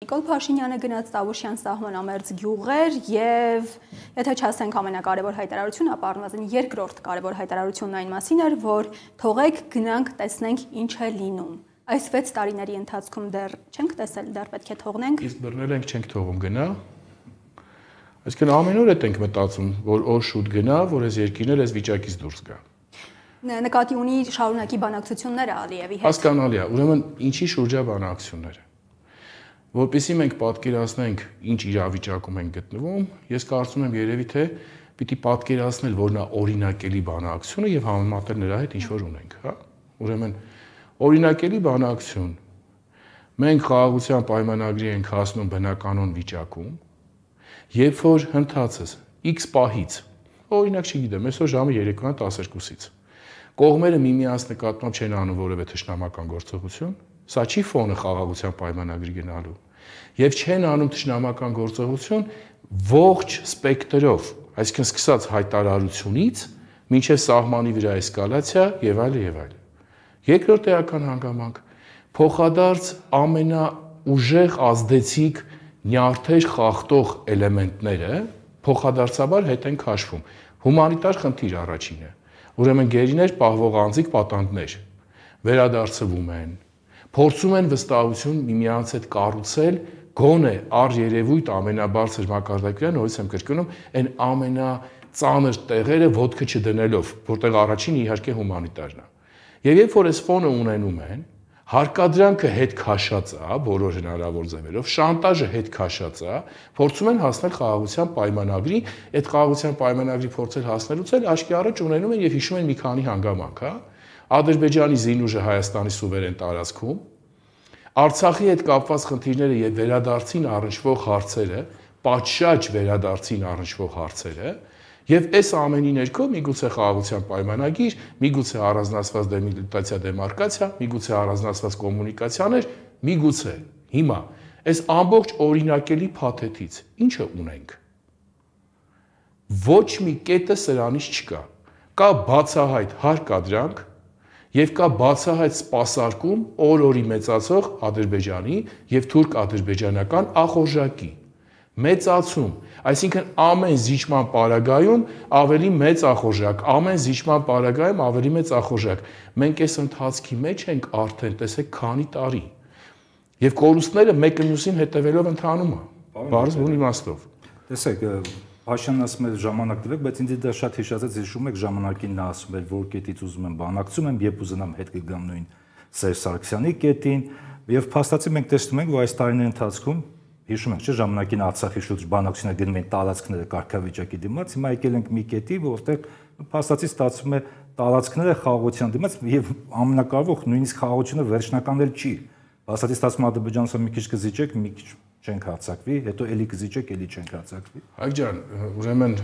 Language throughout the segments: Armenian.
Նիկոլ Փաշինյանը գնաց Տավուշյան սահմանամերձ գյուղեր եւ եթե չասենք ամենակարևոր հայտարարությունը, ապա առնվազն երկրորդ կարևոր հայտարարությունն այն մասին էր, որ թողեք գնանք տեսնենք ինչ է լինում։ Այս 6 տարիների ընթացքում դեռ չենք տեսել, դեռ պետք է թողնենք։ Իսկ բռնել ենք չենք թողում գնա։ Այսինքն ամեն օր ենք մտածում, որ օր շուտ գնա, որ այս երկիրն էլ այս վիճակից դուրս գա։ Նկատի ունի շարունակի բանակցությունները Ալիևի հետ։ Հասկանալի է, ուրեմն ինչի շուրջա բանակցությունները։ Որպեսզի մենք պատկերացնենք ինչ իրավիճակում ենք գտնվում, ես կարծում եմ երևի թե պիտի պատկերացնել, որ նա օրինակելի բանակցությունը եւ համեմատել նրա հետ ինչ որ ունենք, հա։ Ուրեմն օրինակելի բանակցություն։ Մենք խաղաղության պայմանագրի ենք հասնում բնականոն վիճակում, երբ որ հնդածս X պահից, օրինակ չգիտեմ, այսօր ժամը 12:12-ից կողմերը միմյանց նկատմամբ չեն անում որևէ թշնամական գործողություն, սա չի ֆոնը խաղաղության պայմանագրի գնալու, եւ չեն անում թշնամական գործողություն ողջ սպեկտրով, այսինքն սկսած հայտարարությունից մինչև սահմանի վրա էսկալացիա եւ այլն եւ այլն։ Երկրորդ էական հանգամանք փոխադարձ ամենաուժեղ ազդեցիկ նյարդեր խախտող էլեմենտները փոխադարձաբար հետ են քաշվում։ Հումանիտար խնդիր առաջինը։ Ուրեմն գերիներ պահվող անձիկ պատանդներ վերադարձվում են, փորձում են վստահություն միմյանց հետ կառուցել, գոնե առերևույթ ամենաբարձր մակարդակյան, նորից եմ կրկնում, այն ամենածանր տեղերը ոտքը չդնելով, որտեղ առաջինը իհարկե հումանիտարն է։ Եվ երբ որ այս ֆոնը ունենում են, հարկադրանքը հետ քաշած է, բոլոր հնարավոր ձևերով, շանտաժը հետ քաշած է, փորձում են հասնել խաղաղության պայմանագրի, այդ խաղաղության պայմանագրի փորձել հասնելուց էլ աչքի առաջ ունենում են եւ հիշում են մի քանի հանգամանք, հա։ Ադրբեջանի զինուժը Հայաստանի սուվերեն տարածքում, Արցախի հետ կապված խնդիրները եւ վերադարձին առնչվող հարցերը, պատշաճ վերադարձին առնչվող հարցերը, եւ այս ամենի ներքո միգուցե խաղաղության պայմանագիր, միգուցե առանձնացված դեմիլիտացիա դեմարկացիա, միգուցե առանձնացված կոմունիկացիաներ, միգուցե հիմա այս ամբողջ օրինակելի փաթեթից ինչը ունենք։ Ոչ մի կետը սրանից չկա։ Կա բացահայտ հարկադրանք եւ կա բացահայտ սպասարկում օր-օրի մեծացող Ադրբեջանի եւ թուրք-ադրբեջանական ախորժակի մեծացում, այսինքն ամեն զիջման պարագայում ավելի մեծ ախորժակ, ամեն զիջման պարագայում ավելի մեծ ախորժակ։ Մենք այս ընթացքի մեջ ենք արդեն, տեսեք, քանի տարի։ Եվ կորուստները մեկը մյուսին հետևելով ընթանում է, բարձր բուն իմաստով։ Տեսեք, Փաշինյանն ասում է ժամանակ տվեք, բայց ինձ դա շատ հիշացած, հիշում եք ժամանակին նա ասում էր, որ կետից ուզում եմ բանակցում եմ, երբ ուզենամ հետ կգամ նույն Սերժ Սարգսյանի կետին, եւ փաստացի մենք տեսնում ենք, որ այս տարիների ընթացքում հիշում եք, չէ՞, ժամանակին Արցախի շուրջ բանակցությունները գնում են տարածքները կարգավիճակի դիմաց, հիմա եկել ենք մի կետի, որտեղ փաստացի ստացվում է տարածքները խաղաղության դիմաց եւ ամենակարևոր նույնիսկ խաղաղությունը վերջնական էլ չի։ Փաստացի ստացվում է Ադրբեջանցը մի քիչ կզիջեք, մի քիչ չենք հարձակվի, հետո էլի կզիջեք, էլի չենք հարձակվի։ Հայկ ջան, ուրեմն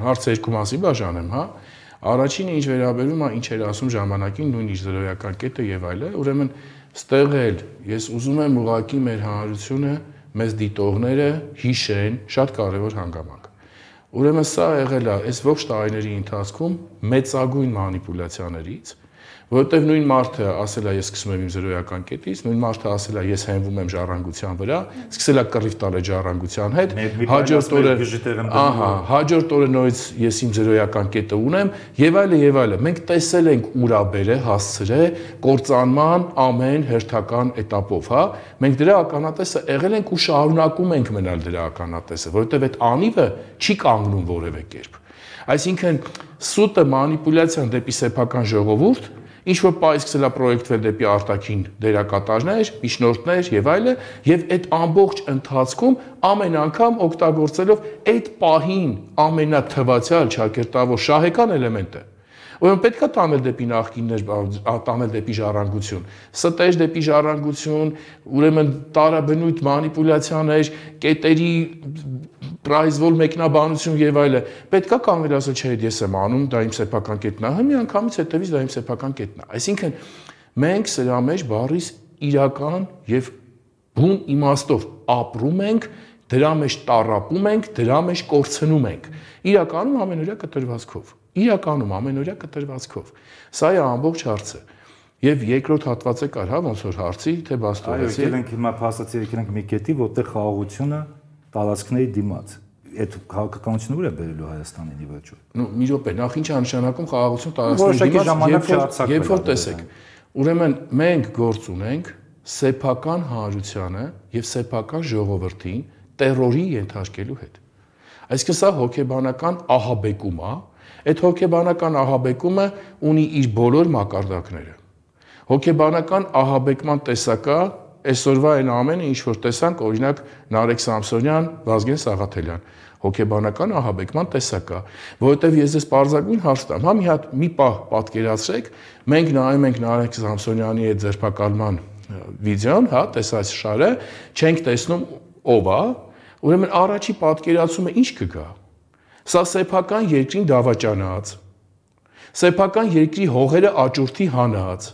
հարցը երկու մասի բաժանեմ, հա։ Առաջինը ինչ վերաբերում է, ինչ էր ասում ժամանակին նույն իր զրոյական կետը եւ այլն, ուրեմն ստեղ էլ ես ուզում եմ ուղղակի մեր հանրությունը մեզ դիտողները հիշեն շատ կարևոր հանգամանք։ Ուրեմն սա եղել է այս ողջ տարիների ընթացքում մեծագույն մանիպուլյացիաներից, որովհետև նույն մարդը ասել է ես սկսում եմ իմ զրոյական կետից, նույն մարդը ասել է ես հենվում եմ ժառանգության վրա, սկսել է կռիվ տալ այդ ժառանգության հետ, հաջորդ օրը նորից ես իմ զրոյական կետը ունեմ եւ այլն եւ այլն։ Մենք տեսել ենք ուրա բերե հասցրե կործանման ամեն հերթական этаպով, հա։ Մենք դրա ականատեսը եղել ենք ու շարունակում ենք մնալ դրա ականատեսը, որովհետև այդ անիվը չի կանգնում որևէ կերպ։ Այսինքն սուտը մանիպուլյացիան դեպի սեփական ժողովուրդ, ինչ որ պայ սկսել է պրոյեկտվել դեպի արտաքին դերակատարներ, միջնորդներ եւ այլն, եւ այդ ամբողջ ընթացքում ամեն անգամ օգտագործելով այդ պահին ամենաթվացial ճակերտավոր շահեկան էլեմենտը։ Ուրեմն պետք է տանել դեպի նախկիններ, տանել դեպի ժառանգություն, ստեր դեպի ժառանգություն, ուրեմն տարաբնույթ մանիպուլյացիաներ, կետերի պրայզվոլ մեկնաբանություն եւ այլն։ Պետք է կանգնել ասել, չէ, ես եմ անում, դա իմ սեփական կետն է, մի անգամից հետևից դա իմ սեփական կետն է։ Այսինքն մենք սրա մեջ բառիս իրական եւ բուն իմաստով ապրում ենք, դրա մեջ տառապում ենք, դրա մեջ կորցնում ենք։ Իրականում ամենօրյա կտրվածքով։ Իրականում ամենօրյա կտրվածքով։ Սա է ամբողջ հարցը։ Եվ երկրորդ հատվածը կար, հա, ոնց որ հարցի, թե բաց տողեցի։ Այո, եկել ենք հիմա փաստացի եկել ենք մի կետի, որտեղ խաղաղությունը տարածքների դիմաց։ Այդ քաղաքականությունը ուր է բերելու Հայաստանին ի վերջո։ Ну, մի րոպե, նախ ինչ է նշանակում խաղաղություն տարածքների դիմաց, երբ որ տեսեք։ Ուրեմն մենք գործ ունենք սեփական հանրությանը եւ սեփական ժողովրդին տերորի ենթարկելու հետ։ Այսինքն սա հոգեբանական ահաբեկում է, այդ հոգեբանական ահաբեկումը ունի իր բոլոր մակարդակները։ Հոգեբանական ահաբեկման տեսակը այսօրվա այն ամենը, ինչ որ տեսանք, օրինակ Նարեկ Սամսոնյան, Վազգեն Սաղաթելյան, հոգեբանական ահաբեկման տեսակը, որովհետև ես ես պարզագույն հարց տամ, հա մի հատ մի պահ պատկերացրեք, մենք նայում ենք Նարեկ Սամսոնյանի այդ ձերբակալման վիդեոն, հա, տեսած շարը, չենք տեսնում ով է, ուրեմն առաջի պատկերացումը ինչ կգա։ Սա սեփական երկրին դավաճանած, սեփական երկրի հողերը աճուրդի հանած,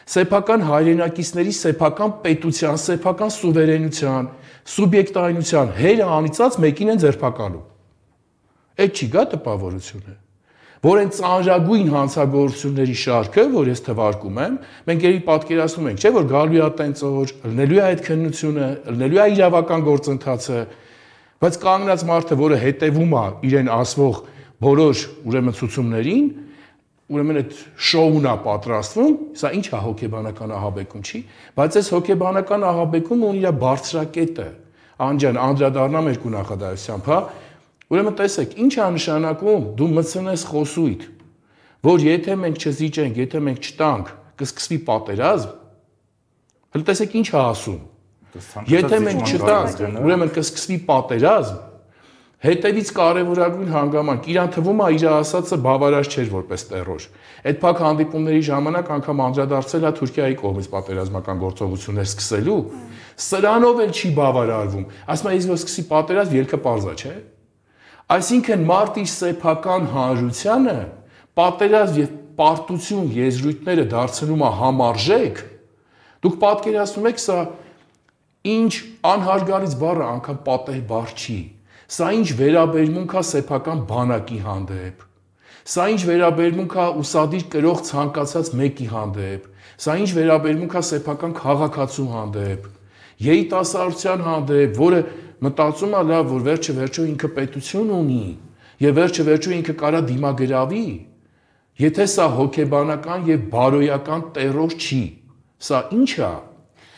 սեփական հայրենակիցների սեփական պետության, սեփական սուվերենության, սուբյեկտայնության հերը անիծած մեկին են ձերբակալում։ Այդ չի գա տպավորությունը, որ այն ծանրագույն հանցագործությունների շարքը, որ ես թվարկում եմ, մենք երբ պատկերացնում ենք, չէ՞ որ գալու է տենց օր, լնելու է այդ քննությունը, լնելու է իրավական գործընթացը, բայց կանգնած մարդը, որը հետևում է իրեն ասվող բոլոր ուրեմն ցուցումներին, ուրեմն այդ շոուն է պատրաստվում, սա ինչ է հոգեբանական ահաբեկում չի, բայց այս հոգեբանական ահաբեկումը ունի իր բարձրակետը։ Անջան, անդրադառնամ երկու նախադասությամբ, հա։ Ուրեմն տեսեք, ինչ է նշանակում դու մտցնես խոսույթ, որ եթե մենք չզիջենք, եթե մենք չտանք, կսկսվի պատերազմ։ Հələ տեսեք ինչ է ասում։ Եթե մենք չտանք, ուրեմն կսկսվի պատերազմ, հետևից կարևորագույն հանգամանք, իրան թվում է իր ասածը բավարար չէր որպես տերոր։ Այդ փակ հանդիպումների ժամանակ անգամ անդրադարձել է Թուրքիայի կողմից պատերազմական գործողություններ սկսելու, սրանով էլ չի բավարարվում։ Ասում է, իսկ որ սկսի պատերազմ, ելքը պարզ է, չէ՞։ Այսինքն մարդ իր սեփական հանրությանը պատերազմ եւ պարտություն եզրույթները դարձնում է համարժեք։ Դուք պատկերացնում եք, սա ինչ անհարգալից բառը անգամ պատեհ բառ չի։ Սա ինչ վերաբերմունք է սեփական բանակի հանդեպ։ Սա ինչ վերաբերմունք է ուսադիր կրող ցանկացած մեկի հանդեպ։ Սա ինչ վերաբերմունք է սեփական քաղաքացու հանդեպ։ Երիտասարդության հանդեպ, որը մտածում է լավ, որ վերջը ինքը պետություն ունի եւ վերջը ինքը կարա դիմագրավի, եթե սա հոգեբանական եւ բարոյական տերոր չի, սա ինչ է։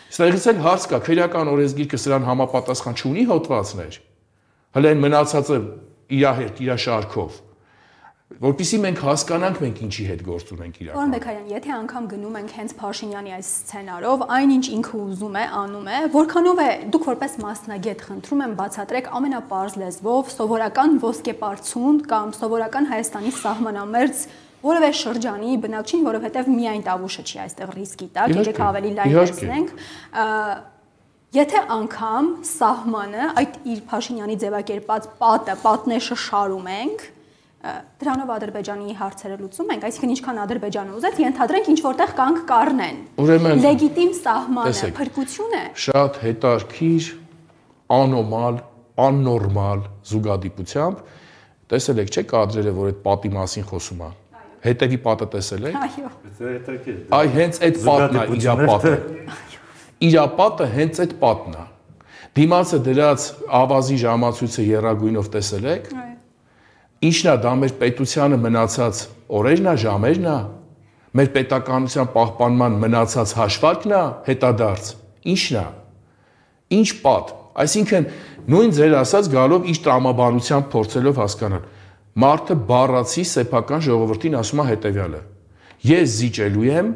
Ստեղից էլ հարց կա, քրեական օրենսգիրքը սրան համապատասխան չունի հոդվածներ, հələ այն մնացածը իր հետ, իր շարքով, որպեսզի մենք հասկանանք մենք ինչի հետ գործ ունենք իրական։ Պարոն Բեկարյան, եթե անգամ գնում ենք հենց Փաշինյանի այս սցենարով, այնինչ ինքը ուզում է, անում է, որքանով է դուք որպես մասնագետ խնդրում եմ բացատրեք ամենապարզ լեզվով սովորական ոսկեպարծուն կամ սովորական Հայաստանի սահմանամերձ որևէ շրջանի բնակչին, որովհետև միայն Տավուշը չի այստեղ ռիսկի տակ, եկեք ավելի լայն տեսնենք, եթե անգամ սահմանը այդ իր Փաշինյանի ձևակերպած պատնեշը շարում ենք, դրանով Ադրբեջանի հարցերը լուծում ենք, այսինքն ինչքան Ադրբեջանը ուզեց, ենթադրենք ինչ որտեղ կանք կառնեն։ Ուրեմն լեգիտիմ սահմանը փրկություն է։ Շատ հետարքիր, անոմալ, աննորմալ զուգադիպությամբ տեսել եք, չէ՞ կադրերը, որ այդ պատի մասին խոսում է։ Հետևի պատը տեսել եք։ Այո։ Այ հենց այդ պատն է իր պատը։ Իր պատը հենց այդ պատն է։ Դիմացը դրած ավազի ժամացույցը եռագույնով տեսել եք։ Ինչն է դա մեր պետությանը մնացած օրերն է, ժամերն է, մեր պետականության պահպանման մնացած հաշվարկն է, հետադարձ։ Ինչն է։ Ինչ պատ։ Այսինքն նույն ձեր ասած գալով իր տրամաբանությամբ փորձելով հասկանալ։ Մարդը բառացի սեփական ժողովրդին ասում է հետևյալը. ես զիջելու եմ,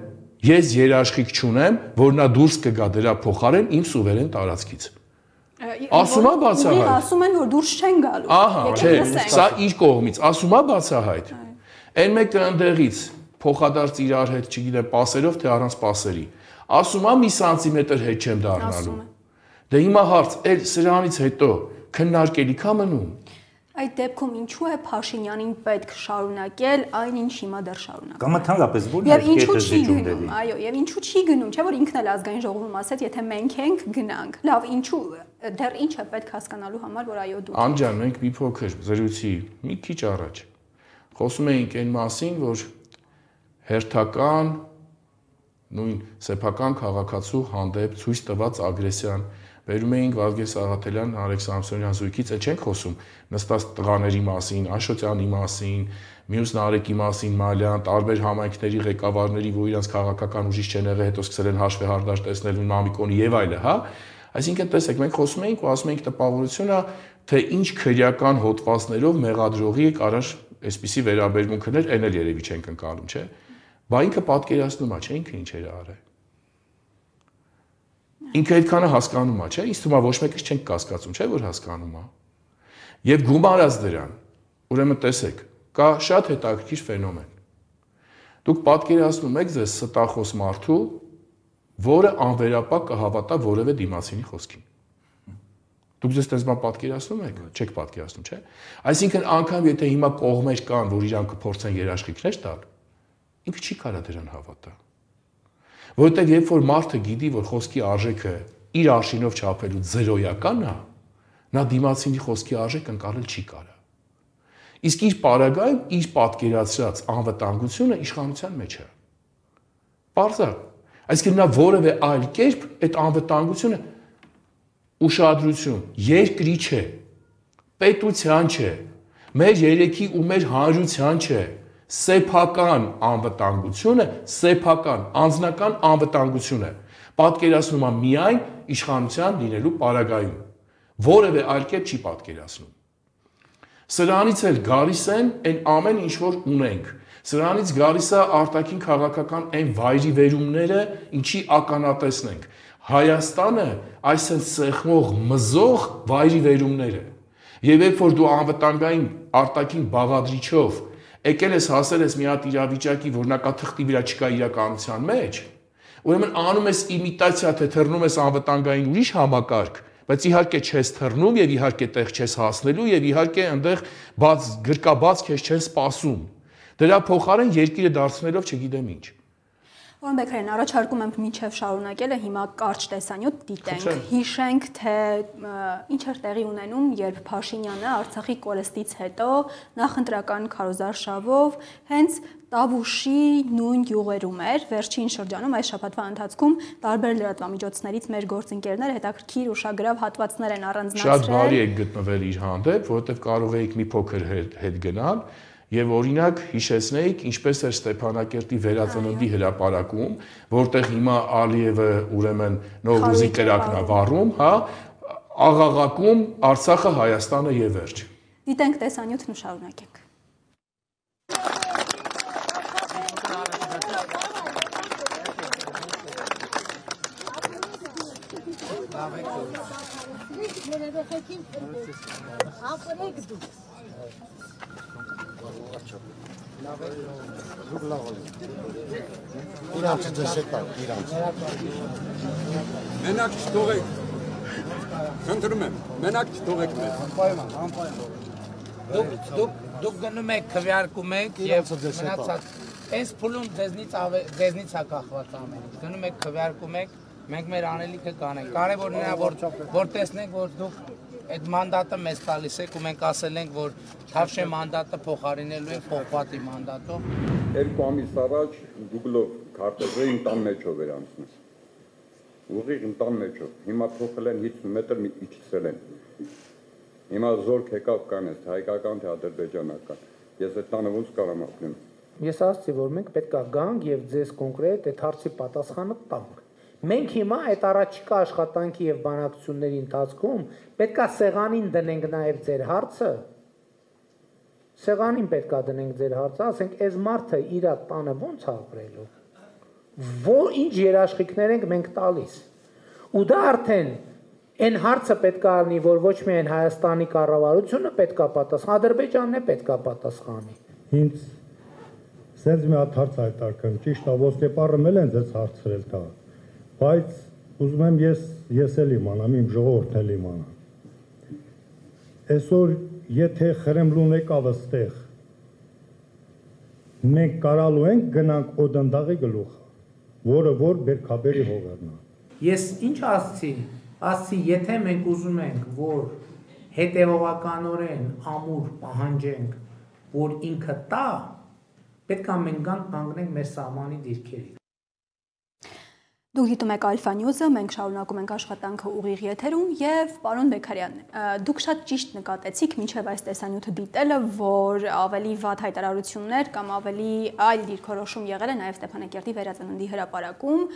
ես երաշխիք չունեմ, որ նա դուրս կգա դրա փոխարեն իմ սուվերեն տարածքից։ Ասում է բացահայտ։ Ասում են, որ դուրս չեն գալու։ Ահա, չէ, սա իր կողմից, ասում է բացահայտ։ Այն մեկը ընդեղից փոխադարձ իրար հետ, չգիտեմ, պասերով թե առանց պասերի։ Ասում է մի սանտիմետր հետ չեմ դառնալու։ Դե հիմա հարց, էլ սրանից հետո քննարկելիք է մնում։ Այդ դեպքում ինչու է Փաշինյանին պետք շարունակել այն ինչ հիմա դեռ շարունակում։ Կամ ընդհանրապես ո՞րն է կետը զիջումների։ Այո, եւ ինչու չի գնում, չէ՞ որ ինքն էլ ազգային ժողովում ասաց, եթե մենք ենք գնանք։ Լավ, ինչու դեռ ինչ է պետք հասկանալու համար, որ այո դու։ Անջան, մենք մի փոքր զրույցի մի քիչ առաջ խոսում էինք այն մասին, որ հերթական նույն սեփական քաղաքացու հանդեպ ցույց տված ագրեսիան, վերում էինք Վազգեն Սաղաթելյան, Արեգ Սամսոնյան զույգից, էլ չենք խոսում նստած տղաների մասին, Աշոտյանի մասին, մյուս Նարեկի մասին, Մալյան, տարբեր համայնքների ղեկավարների, որ իրանց քաղաքական ուժից չեն եղել, հետո սկսել են հաշվեհարդար տեսնել Մամիկոնի եւ այլը, հա։ Այսինքն, տեսեք, մենք խոսում էինք ու ասում էինք տպավորությունը, թե ինչ քրեական հոդվածներով մեղադրողի կարար այսպիսի վերաբերմունքներ, այն էլ երևի չենք ընկալում, չէ՞։ Բա ինքը պատկերացնում է, չէ՞, ինքը ինչ էր արել։ Ինքը այդքանը հասկանում է, չէ՞, ինձ թվում է ոչ մեկից չենք կասկածում, չէ՞ որ հասկանում է։ Եվ գումարած դրան, ուրեմն տեսեք, կա շատ հետաքրքիր ֆենոմեն։ Դուք պատկերացնում եք ձեզ ստախոս մարդու, որը անվերապակ կհավատա որևէ դիմացինի խոսքին։ Դուք ձեզ տես բան պատկերացնում եք, չեք պատկերացնում, չէ՞։ Այսինքն անգամ եթե հիմա կողմեր կան, որ իրանք կփորձեն երաշխիքներ տալ, ինքը չի կարա դրան հավատա։ Որովհետև երբ որ մարդը գիտի, որ խոսքի արժեքը իր արշինով չափելու զերոյական է, նա դիմացինի խոսքի արժեքը ընկալել չի կարա։ Իսկ իր պարագայում իր պատկերացրած անվտանգությունը իշխանության մեջ է։ Պարզ է։ Այսինքն նա որևէ այլ կերպ այդ անվտանգությունը ուշադրություն, երկրի չէ, պետության չէ, մեր երեքի ու մեր հանրության չէ, սեփական անվտանգությունը, սեփական անձնական անվտանգությունը պատկերացնում է միայն իշխանության լինելու պարագայում, որևէ այլ կերպ չի պատկերացնում։ Սրանից էլ գալիս են այն ամեն ինչ որ ունենք, սրանից գալիս է արտաքին քաղաքական այն վայրիվերումները, ինչի ականատեսնենք։ Հայաստանը այսպես սեղմող, մզող վայրիվերումներ է։ Եվ երբ որ դու անվտանգային արտաքին բաղադրիչով եկել ես հասել ես մի հատ իրավիճակի, որ նա կա թղթի վրա չկա իրականության մեջ, ուրեմն անում ես իմիտացիա, թե թռնում ես անվտանգային ուրիշ համակարգ, բայց իհարկե չես թռնում եւ իհարկե տեղ չես հասնելու եւ իհարկե այնտեղ բաց գրկաբաց քեզ չեն սպասում։ Դրա փոխարեն երկիրը դարձնելով չգիտեմ ինչ։ Պարոն Բեկարյան, առաջարկում եմ մինչև շարունակելը հիմա կարճ տեսանյութ դիտենք, հիշենք, թե ինչ էր տեղի ունենում, երբ Փաշինյանը Արցախի կորստից հետո նախընտրական քարոզարշավով հենց Տավուշի նույն յուղերում էր, վերջին շրջանում այս շաբաթվա ընթացքում տարբեր լրատվամիջոցներից մեր գործընկերները հետաքրքիր ուշագրավ հատվածներ են առանձնացրել։ Շատ բարի եք գտնվել իր հանդեպ, որովհետև կարող էիք մի փոքր հետ գնալ եւ օրինակ հիշեցնեիք ինչպես էր Ստեփանակերտի վերածննդի հրապարակում, որտեղ հիմա Ալիևը ուրեմն Նովրուզի կրակն է վառում, հա, աղաղակում Արցախը, Հայաստանը եւ վերջ։ Դիտենք տեսանյութն ու շարունակենք։ Իրանց դեսեկա, իրանց։ Մենակ չթողեք։ Խնդրում եմ, մենակ չթողեք մեզ։ Անպայման։ Դուք գնում եք, քվեարկում եք եւ մնացած այս փուլում ձեզնից է կախված ամեն ինչ։ Գնում եք, քվեարկում եք, մենք մեր անելիքը կանենք։ Կարևորն է որ տեսնենք, որ դուք այդ մանդատը մեզ տալիս եք ու մենք ասել ենք, որ Թավշե մանդատը փոխարինելու է Պողպատի մանդատով։ 2 ամիս առաջ Google-ով քարտեզը տան մեջով էր անցնում։ Ուղիղ տան մեջով։ Հիմա փոխել են 50 մետր իջեցել են։ Հիմա զորք եկավ կանես, հայկական թե ադրբեջանական։ Ես այդ տանը ոնց կարամ ապրեմ։ Ես ասացի, որ մենք պետք է գանք եւ ձեզ կոնկրետ այդ հարցի պատասխանը տանք։ Մենք հիմա այդ առաջիկա աշխատանքի եւ բանակցությունների ընթացքում պետք է սեղանին դնենք նաեւ ձեր հարցը։ Սեղանին պետք է դնենք ձեր հարցը, ասենք, այս մարդը իր տանը ո՞նց է ապրելու։ Որ ինչ երաշխիքներ ենք մենք տալիս։ Ու դա արդեն այն հարցը պետք է լինի, որ ոչ միայն Հայաստանի կառավարությունը պետք է պատասխանի, Ադրբեջանն է պետք է պատասխանի։ Ինձ սենց մի հատ հարց հայտարարեմ, ճիշտ է, ոսկեպարը էլ են ձեզ հարցրել դա, բայց ուզում եմ ես էլ իմանամ, իմ ժողովուրդն էլ իմանա։ Այսօր եթե Խրեմլուն եկավ այստեղ, մենք կարալու ենք գնանք Օդանդաղի գլուխ, որը որ Բերքաբերի հողերն է։ Ես ինչ ասացի, եթե մենք ուզում ենք, որ հետևողականորեն ամուր պահանջենք, որ ինքը տա, պետք է մենք կանգնենք մեր սահմանի դիրքերի։ Դուք դիտում եք Alpha News-ը, մենք շարունակում ենք աշխատանքը ուղիղ եթերում եւ պարոն Բեկարյան, դուք շատ ճիշտ նկատեցիք մինչեւ այս տեսանյութը դիտելը, որ ավելի վատ հայտարարություններ կամ ավելի այլ դիրքորոշում եղել է նաեւ Ստեփանակերտի վերածննդի հրապարակում,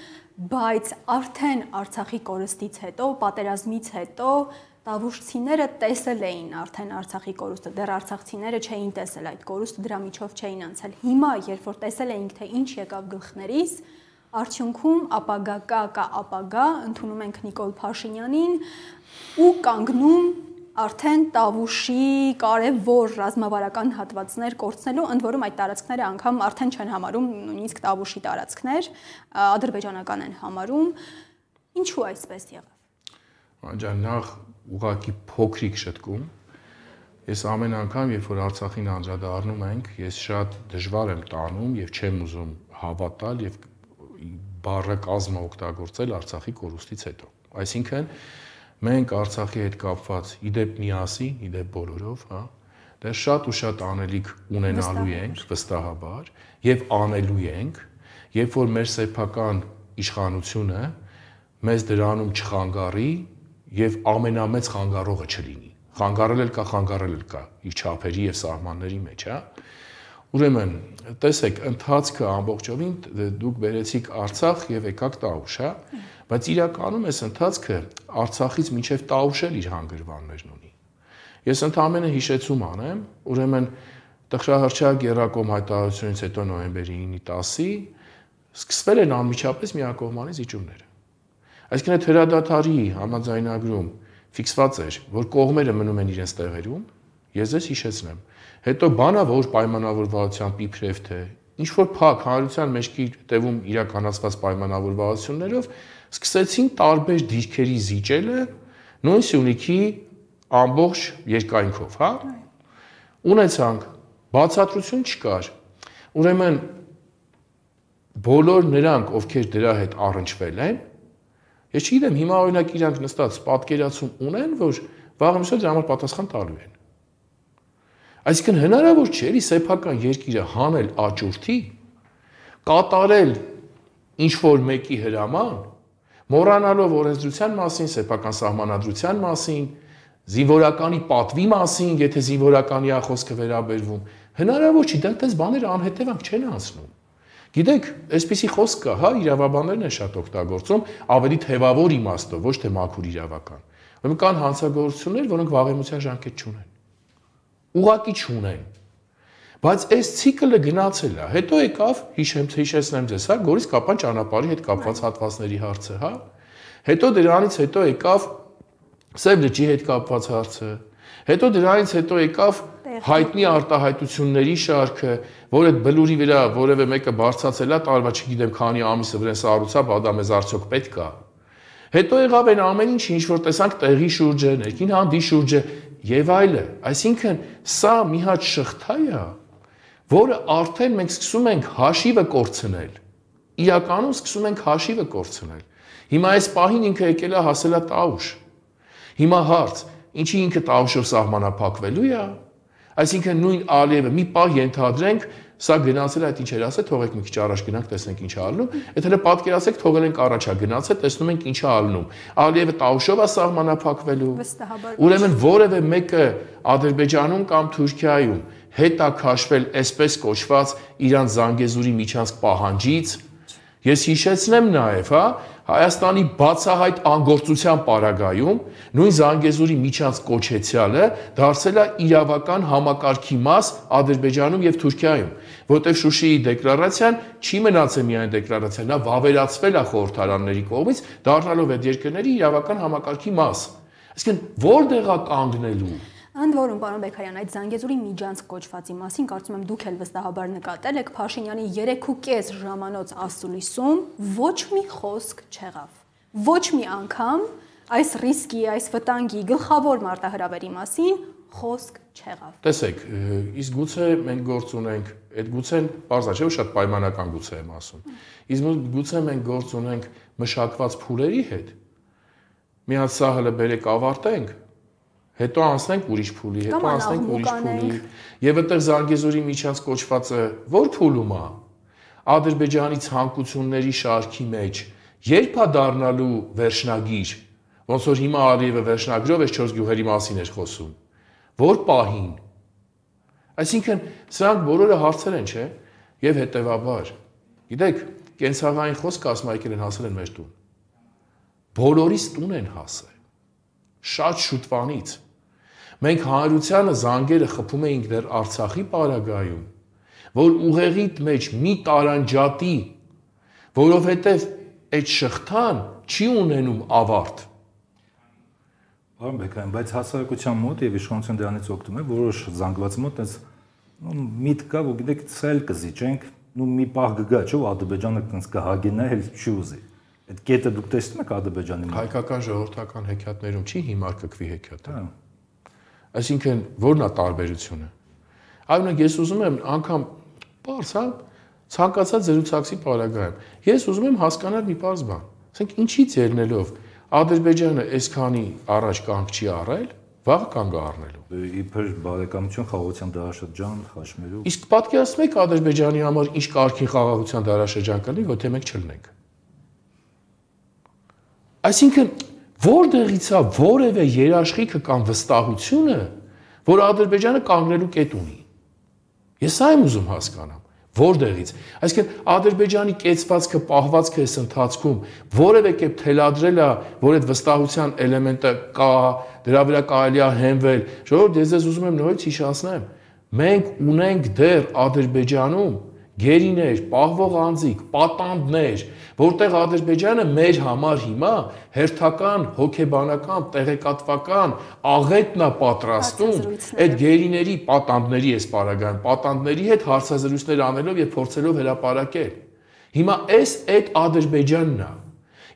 բայց արդեն Արցախի կորստից հետո, պատերազմից հետո Տավուշցիները տեսել էին արդեն Արցախի կորուստը, դեռ արցախցիները չէին տեսել այդ կորուստը, դրա միջով չէին անցել։ Հիմա, երբ որ տեսել էինք, թե ինչ եկավ գլխներիս, արդյունքում ապագա կա ապագա, ընդունում ենք Նիկոլ Փաշինյանին ու կանգնում արդեն Տավուշի կարևոր ռազմավարական հատվածներ կորցնելու, ընդ որում այդ տարածքները անգամ արդեն չեն համարում նույնիսկ Տավուշի տարածքներ, ադրբեջանական են համարում։ Ինչու այսպես եղավ։ Անջան, նախ ուղղակի փոքրիկ շտկում։ Ես ամեն անգամ, երբ որ Արցախին անդրադառնում ենք, ես շատ դժվար եմ տանում եւ չեմ ուզում հավատալ եւ բառը կազմը օգտագործել Արցախի կորուստից հետո։ Այսինքն մենք Արցախի հետ կապված իդեպ միասին, իդեպ բոլորով, հա, դեռ շատ ու շատ անելիք ունենալու ենք վստահաբար եւ անելու ենք, երբ որ մեր սեփական իշխանությունը մեզ դրանում չխանգարի եւ ամենամեծ խանգարողը չլինի։ Խանգարել էլ կա իր չափերի եւ սահմանների մեջ, հա։ Ուրեմն, տեսեք, ընթացքը ամբողջովին դուք բերեցիք Արցախ եւ եկաք Տավուշ, հա, բայց իրականում այս ընթացքը Արցախից մինչեւ Տավուշ էլ իր հանգրվաններն ունի։ Ես ընդհանրապես հիշեցում անեմ, ուրեմն տխրահրճակ Գերակոմ հայտարարությունից հետո նոյեմբերի 9-ի 10-ի սկսվել են անմիջապես միակողմանի զիջումները։ Այսինքն այդ հրադադարի համաձայնագրում ֆիքսված էր, որ կողմերը մնում են իրենց տեղերում, ես ձեզ հիշեցնեմ։ Հետո բանա որ պայմանավորվածության իբրև թե ինչ որ փակ հանրության մեջքի տևում իրականացված պայմանավորվածություններով սկսեցին տարբեր դիրքերի զիջելը նույն Սյունիքի ամբողջ երկայնքով, հա։ Ունեցանք բացատրություն չկար։ Ուրեմն բոլոր նրանք, ովքեր դրա հետ առնչվել են, ես չգիտեմ, հիմա օրինակ իրանք նստած պատկերացում ունեն, որ վաղ ամսը դրա համար պատասխան տալու են։ Այսինքն հնարավոր չէ էլի սեփական երկիրը հանել աճուրդի, կատարել ինչ որ մեկի հրաման, մոռանալով օրենսդրության մասին, սեփական սահմանադրության մասին, զինվորականի պատվի մասին, եթե զինվորականի է խոսքը վերաբերվում, հնարավոր չի, դրանց բաները անհետևանք չեն անցնում։ Գիտեք, այսպիսի խոսք կա, հա, իրավաբաններն են շատ օգտագործում, ավելի թևավոր իմաստով, ոչ թե մաքուր իրավական։ Ուրեմն կան հանցագործություններ, որոնք վաղեմության ժամկետ չունեն։ Ուղղակի չունեն։ Բայց այս ցիկլը գնացել է։ Հետո եկավ, հիշեցնեմ ձեզ, հա, Գորիս Կապան ճանապարհի հետ կապված հատվածների հարցը, հա։ Հետո դրանից հետո եկավ Սև լճի հետ կապված հարցը։ Հետո դրանից հետո եկավ հայտնի արտահայտությունների շարքը, որ այդ բլուրի վրա որևէ մեկը բարձրացել է, տարվա չգիտեմ քանի ամիսը վրան սառուցա, բա դա մեզ արդյոք պետք է։ Հետո եղավ այն ամեն ինչ, ինչ որ տեսանք տեղի շուրջը, ներքին հանդի շուրջը եւ այլը։ Այսինքն սա մի հատ շղթա է, որը արդեն մենք սկսում ենք հաշիվը կորցնել։ Իրականում սկսում ենք հաշիվը կորցնել։ Հիմա այս պահին ինքը եկել է հասել է Տավուշ։ Հիմա հարց, ինչի ինքը Տավուշով սահմանափակվելու է։ Այսինքն նույն Ալիևը մի պահ ենթադրենք, սա գնացել է այդ ինչ էր ասել, թողեք մի քիչ առաջ գնանք, տեսնենք ինչ է ալնում։ Այդ հələ պատկերացեք, թողել ենք առաջա գնացել, տեսնում ենք ինչ է ալնում։ Ալիևը Տավուշով է սահմանափակվելու։ Ուրեմն որևէ մեկը Ադրբեջանում կամ Թուրքիայում հետ է քաշվել այսպես կոչված Իրան Զանգեզուրի միջանցք պահանջից։ Ես հիշեցնեմ նաև, հա, Հայաստանի բացահայտ անգործության պարագայում նույն Զանգեզուրի միջանցք կոչեցյալը դարձել է իրավական համակարգի մաս Ադրբեջանում եւ Թուրքիայում, որտեղ Շուշիի դեկլարացիան չի մնացել միայն դեկլարացիա, նա վավերացվել է խորհրդարանների կողմից, դառնալով այդ երկրների իրավական համակարգի մաս։ Այսինքն որտեղ է կանգնելու։ Ընդ որում, պարոն Բեկարյան, այդ Զանգեզուրի միջանցք կոչվածի մասին կարծում եմ դուք էլ վստահաբար նկատել եք Փաշինյանի 3.5 ժամանոց ասուլիսում ոչ մի խոսք չեղավ։ Ոչ մի անգամ այս ռիսկի, այս վտանգի գլխավոր մարտահրավերի մասին խոսք չեղավ։ Տեսեք, իսկ գուցե մենք գործ ունենք, այդ գուցեն բարձր չէ, շատ պայմանական գուցե եմ ասում։ Իսկ գուցե մենք գործ ունենք մշակված փուլերի հետ։ Մի հատ սա հələ բերեք ավարտենք, հետո անցնենք ուրիշ փուլի, հետո անցնենք ուրիշ փուլի։ Եվ այդտեղ Զանգեզուրի միջանցք կոչվածը ո՞ր փուլում է։ Ադրբեջանի ցանկությունների շարքի մեջ Երբ է դառնալու վերջնագիր, ոնց որ հիմա Ալիևը վերջնագրով այս 4 գյուղերի մասին էր խոսում, որ պահին։ Այսինքն սրանք բոլորը հարցեր են, չէ՞, եւ հետեւաբար, գիտեք, կենցաղային խոսքը ասում եկել են հասել են մեր տուն։ Բոլորիս տուն են հասել։ Շատ շուտվանից։ Մենք հանրությանը զանգերը խփում էինք դեռ Արցախի պարագայում, որ ուղեղիդ մեջ մի տարանջատի, որովհետև այդ շղթան չի ունենում ավարտ։ Պարոն Բեկյան, բայց հասարակության մոտ եւ իշխանության դրանից օգտվում է որոշ զանգվածի մոտ այս միտք կա, որ գիտեք, ցել կզիջենք, մի պահ կգա, չէ՞, Ադրբեջանը տենց կհագենա, էլ չի ուզի։ Այդ կետը դուք տեսնում եք Ադրբեջանի մոտ։ Հայկական ժողովրդական հեքիաթներում չի հիմար կկվի հեքիաթը։ Այսինքն ո՞րն է տարբերությունը։ Այո, ես ուզում եմ անգամ բարձ, հա, ցանկացած զրուցակցի պարագայում։ Ես ուզում եմ հասկանալ մի բարձ բան։ Ասենք ինչից ելնելով Ադրբեջանը այսքանի առաջ կանգ չի առել, վաղ կանգ առնելու։ Իբր բարեկամություն, խաղաղության դարաշրջան, խաչմերուկ։ Իսկ պատկերացնում եք Ադրբեջանի համար ինչ կարգին խաղաղության դարաշրջան կլինի, եթե մենք չլնենք։ Այսինքն որտեղից է որևէ երաշխիքը կամ վստահությունը, որ Ադրբեջանը կանգնելու կետ ունի։ Ես այն ուզում հասկանամ, որտեղից։ Այսինքն Ադրբեջանի կեցվածքը, պահվածքը այս ընթացքում որևէ կերպ թելադրել է, որ այդ վստահության էլեմենտը կա, դրա վրա կարելի է հենվել։ Ժողովուրդ, ես ուզում եմ նորից հիշեցնեմ, մենք ունենք դեռ Ադրբեջանում գերիներ, պահվող անձիկ, պատանդներ, որտեղ Ադրբեջանը մեր համար հիմա հերթական, հոգեբանական, տեղեկատվական աղետն է պատրաստում այդ գերիների, պատանդների այս պարագայում, պատանդների հետ հարցազրույցներ անելով եւ փորձելով հրապարակել։ Հիմա այդ Ադրբեջանն է։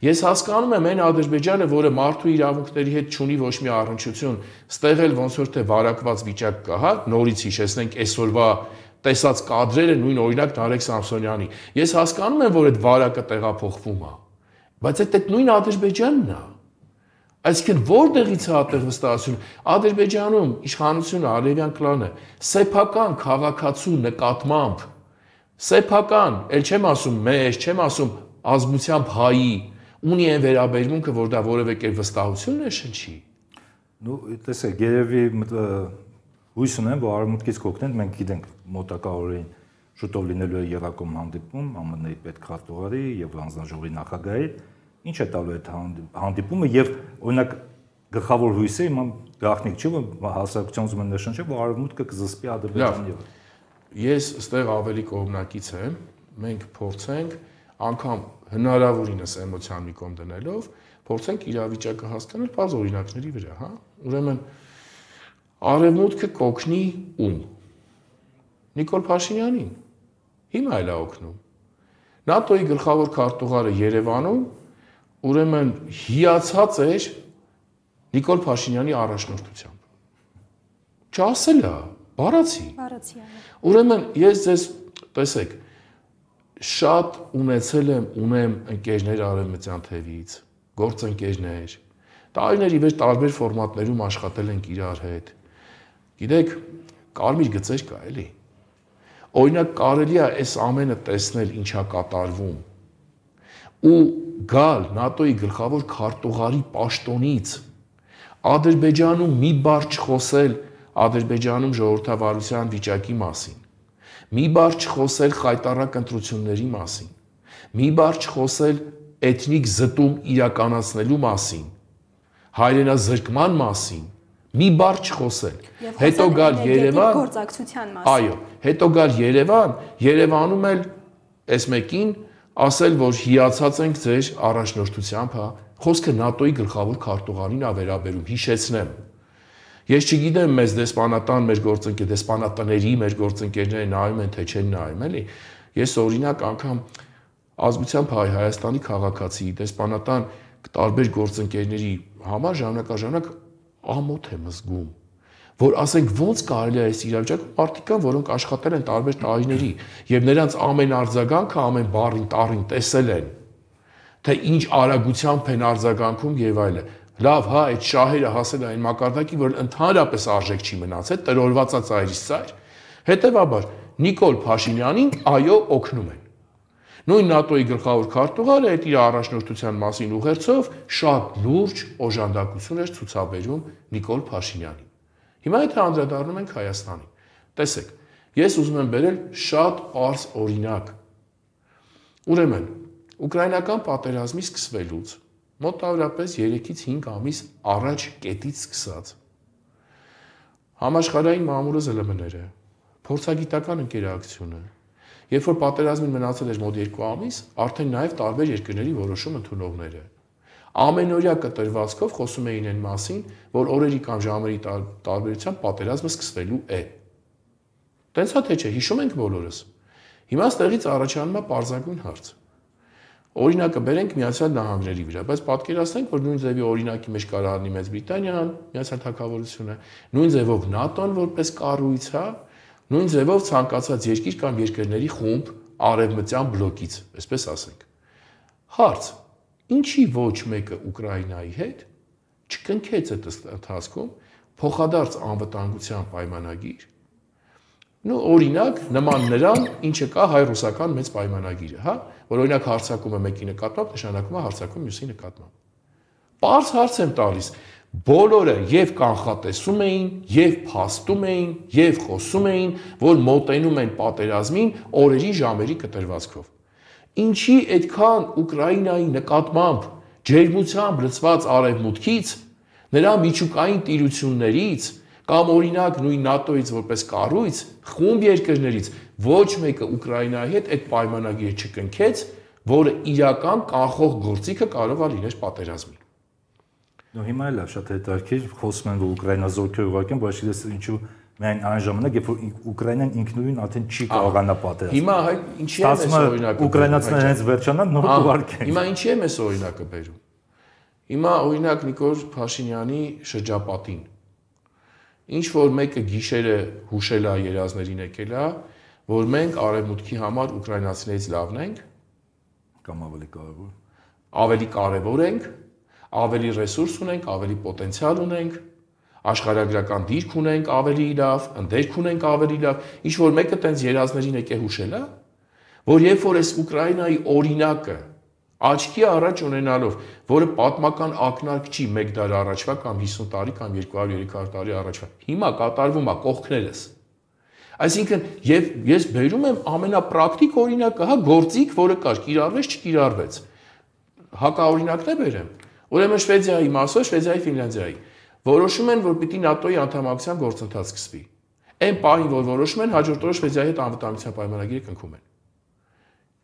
Ես հասկանում եմ այն Ադրբեջանը, որը մարդու իրավունքների հետ չունի ոչ մի առնչություն, ստեղ էլ ոնց որ թե վարակված վիճակ կա, հա, նորից հիշեցնենք այսօրվա տեսած կադրերը նույն օրինակ Նարեկ Սամսոնյանի։ Ես հասկանում եմ, որ այդ վարակը տեղափոխվում է, բայց այդ նույն Ադրբեջանն է։ Այսինքն որտեղից է այդտեղ վստահություն։ Ադրբեջանում իշխանությունը, Ալիևյան կլանը սեփական քաղաքացու նկատմամբ, սեփական, ել չեմ ասում մեզ, չեմ ասում ազգությամբ հայի, ունի այն վերաբերմունքը, որ դա որևէ կերպ վստահություն է շնչի։ Ну, տեսեք, երևի հույս ունեմ, որ արևմուտքից կօգնեն, մենք գիտենք մոտակա օրերին շուտով լինելու է Երակոմ հանդիպում ԱՄՆ-ի պետքարտուղարի եւ հանձնաժողովի նախագահի, ինչ է տալու այդ հանդիպումը եւ օրինակ գլխավոր հույսը իմ գաղտնիք չէ, որ հասարակության ուզում են նշել, որ արևմուտքը կզսպի Ադրբեջանի։ Ես այստեղ ավելի կողմնակից եմ, մենք փորձենք անգամ հնարավորինս էմոցիան մի կողմ դնելով, փորձենք իրավիճակը հասկանալ բաց օրինակների վրա, հա։ Ուրեմն Արևմուտքը կօգնի ում։ Նիկոլ Փաշինյանին։ Հիմա էլ է օգնում։ ՆԱՏՕ-ի գլխավոր քարտուղարը Երևանում ուրեմն հիացած էր Նիկոլ Փաշինյանի առաջնորդությամբ։ Չասել է, բառացի։ Ուրեմն ես ձեզ տեսեք, շատ ունեմ ընկերներ արևմտյան թևից, գործընկերներ, տարիների վեր տարբեր ֆորմատներում աշխատել ենք իրար հետ։ Գիտեք, կարմիր գծեր կա էլի։ Օրինակ կարելի է այս ամենը տեսնել ինչա կատարվում ու գալ ՆԱՏՕ-ի գլխավոր քարտուղարի պաշտոնից Ադրբեջանում մի բառ չխոսել Ադրբեջանում ժողովրդավարության վիճակի մասին, մի բառ չխոսել խայտառակ ընտրությունների մասին, մի բառ չխոսել էթնիկ զտում իրականացնելու մասին, հայրենազրկման մասին, մի բառ չխոսել։ Հետո գալ Երևան, գործակցության մասին։ Այո, հետո գալ Երևան, Երևանում էլ այս մեկին ասել, որ հիացած ենք ձեր առաջնորդությամբ, հա, խոսքը ՆԱՏՕ-ի գլխավոր քարտուղարին է վերաբերում, հիշեցնեմ։ Ես չգիտեմ մեզ դեսպանատան մեր գործընկեր, դեսպանատների մեր գործընկերները նայում են, թե չեն նայում, էլի։ Ես օրինակ անգամ ազգությամբ Հայաստանի քաղաքացի, դեսպանատան տարբեր գործընկերների համար ժամանակ ամոթ եմ զգում, որ ասենք ոնց կարելի է այս իրավիճակում մարդիկ կան, որոնք աշխատել են տարբեր տարիների եւ նրանց ամեն արձագանքը, ամեն բառին տառին տեսել են, թե ինչ արագությամբ են արձագանքում եւ այլն։ Լավ, հա, այդ շահերը հասել այն մակարդակի, որ ընդհանրապես արժեք չի մնացել, տրորված ծայրից ծայր։ Հետևաբար Նիկոլ Փաշինյանին այո օգնում են։ Նույն ՆԱՏՕ-ի գլխավոր քարտուղարը այդ իր առաջնորդության մասին ուղերձով շատ լուրջ օժանդակություն էր ցուցաբերում Նիկոլ Փաշինյանին։ Հիմա եթե անդրադառնում ենք Հայաստանին, տեսեք, ես ուզում եմ բերել շատ պարզ օրինակ։ Ուրեմն, ուկրաինական պատերազմի սկսվելուց մոտավորապես 3-ից 5 ամիս առաջ կետից սկսած համաշխարհային մամուլը ԶԼՄ-ները, փորձագիտական ընկերակցությունը, երբ որ պատերազմին մնացել էր մոտ 2 ամիս, արդեն նաև տարբեր երկրների որոշում ընդունողները ամենօրյա կտրվածքով խոսում էին այն մասին, որ օրերի կամ ժամերի տարբերությամբ պատերազմը սկսվելու է։ Տենց թե չէ, հիշում ենք բոլորս։ Հիմա ստեղից առաջանում է պարզագույն հարց։ Օրինակը բերենք Միացյալ Նահանգների վրա, բայց պատկերացնենք, որ նույն ձևի օրինակի մեջ կարող լինի Մեծ Բրիտանիան, Միացյալ Թագավորությունը, նույն ձևով ՆԱՏՕ-ն որպես կառույց, հա, նույն ձևով ցանկացած երկիր կամ երկրների խումբ արևմտյան բլոկից, այսպես ասենք։ Հարց. ինչի ոչ մեկը Ուկրաինայի հետ չկնքեց այդ ընթացքում փոխադարձ անվտանգության պայմանագիր։ Ну, օրինակ, նման նրան, ինչը կա հայ-ռուսական մեծ պայմանագիրը, հա, որ օրինակ հարձակում է մեկի նկատմամբ, նշանակում է հարձակում մյուսի նկատմամբ։ Պարզ հարց եմ տալիս, բոլորը եւ կանխատեսում էին, եւ փաստում էին, եւ խոսում էին, որ մոտենում են պատերազմին օրերի ժամերի կտրվածքով։ Ինչի այդքան Ուկրաինայի նկատմամբ ջերմությամբ լցված արևմուտքից, նրա միջուկային տիրություններից կամ օրինակ նույն ՆԱՏՕ-ից որպես կառույց, խումբ երկրներից ոչ մեկը Ուկրաինայի հետ այդ պայմանագիրը չկնքեց, որը իրական կանխող գործիքը կարող է լինել պատերազմին։ Ну հիմա էլ է շատ հետաքրքիր, խոսում են, որ Ուկրաինա զորքեր ուղարկեն, բայց ես ինչու միայն այն ժամանակ, երբ որ Ուկրաինան ինքնուրույն արդեն չի կարողանա պատերազմ։ Հիմա ինչի է մեզ օրինակը։ Ուկրաինացիները հենց վերջանան նոր ուղարկեն։ Հիմա ինչի է մեզ օրինակը բերում։ Հիմա օրինակ Նիկոլ Փաշինյանի շրջապատին ինչ որ մեկը գիշերը հուշել է երազներին եկել է, որ մենք արևմուտքի համար ուկրաինացիներից լավն ենք կամ ավելի կարևոր ենք, ավելի ռեսուրս ունենք, ավելի պոտենցիալ ունենք, աշխարհագրական դիրք ունենք ավելի լավ, ընդերք ունենք ավելի լավ, ինչ որ մեկը տենց երազներին եկե հուշել է, որ երբ որ այս Ուկրաինայի օրինակը աչքի առաջ ունենալով, որը պատմական ակնարկ չի 1 դար առաջվա կամ 50 տարի կամ 200-300 տարի առաջվա, հիմա կատարվում է կողքներս։ Այսինքն, եւ ես բերում եմ ամենապրակտիկ օրինակը, հա, գործիք, որը կար, կիրառվեց, չկիրառվեց։ Հակաօրինակն է բերեմ։ Ուրեմն Շվեդիայի մասով, Շվեդիայի, Ֆինլանդիայի որոշում են, որ պիտի ՆԱՏՕ-ի անդամակցության գործընթաց սկսվի։ Այն պահին, որ որոշում են, հաջորդ օրը Շվեդիայի հետ անվտանգության պայմանագիրը կնքում են։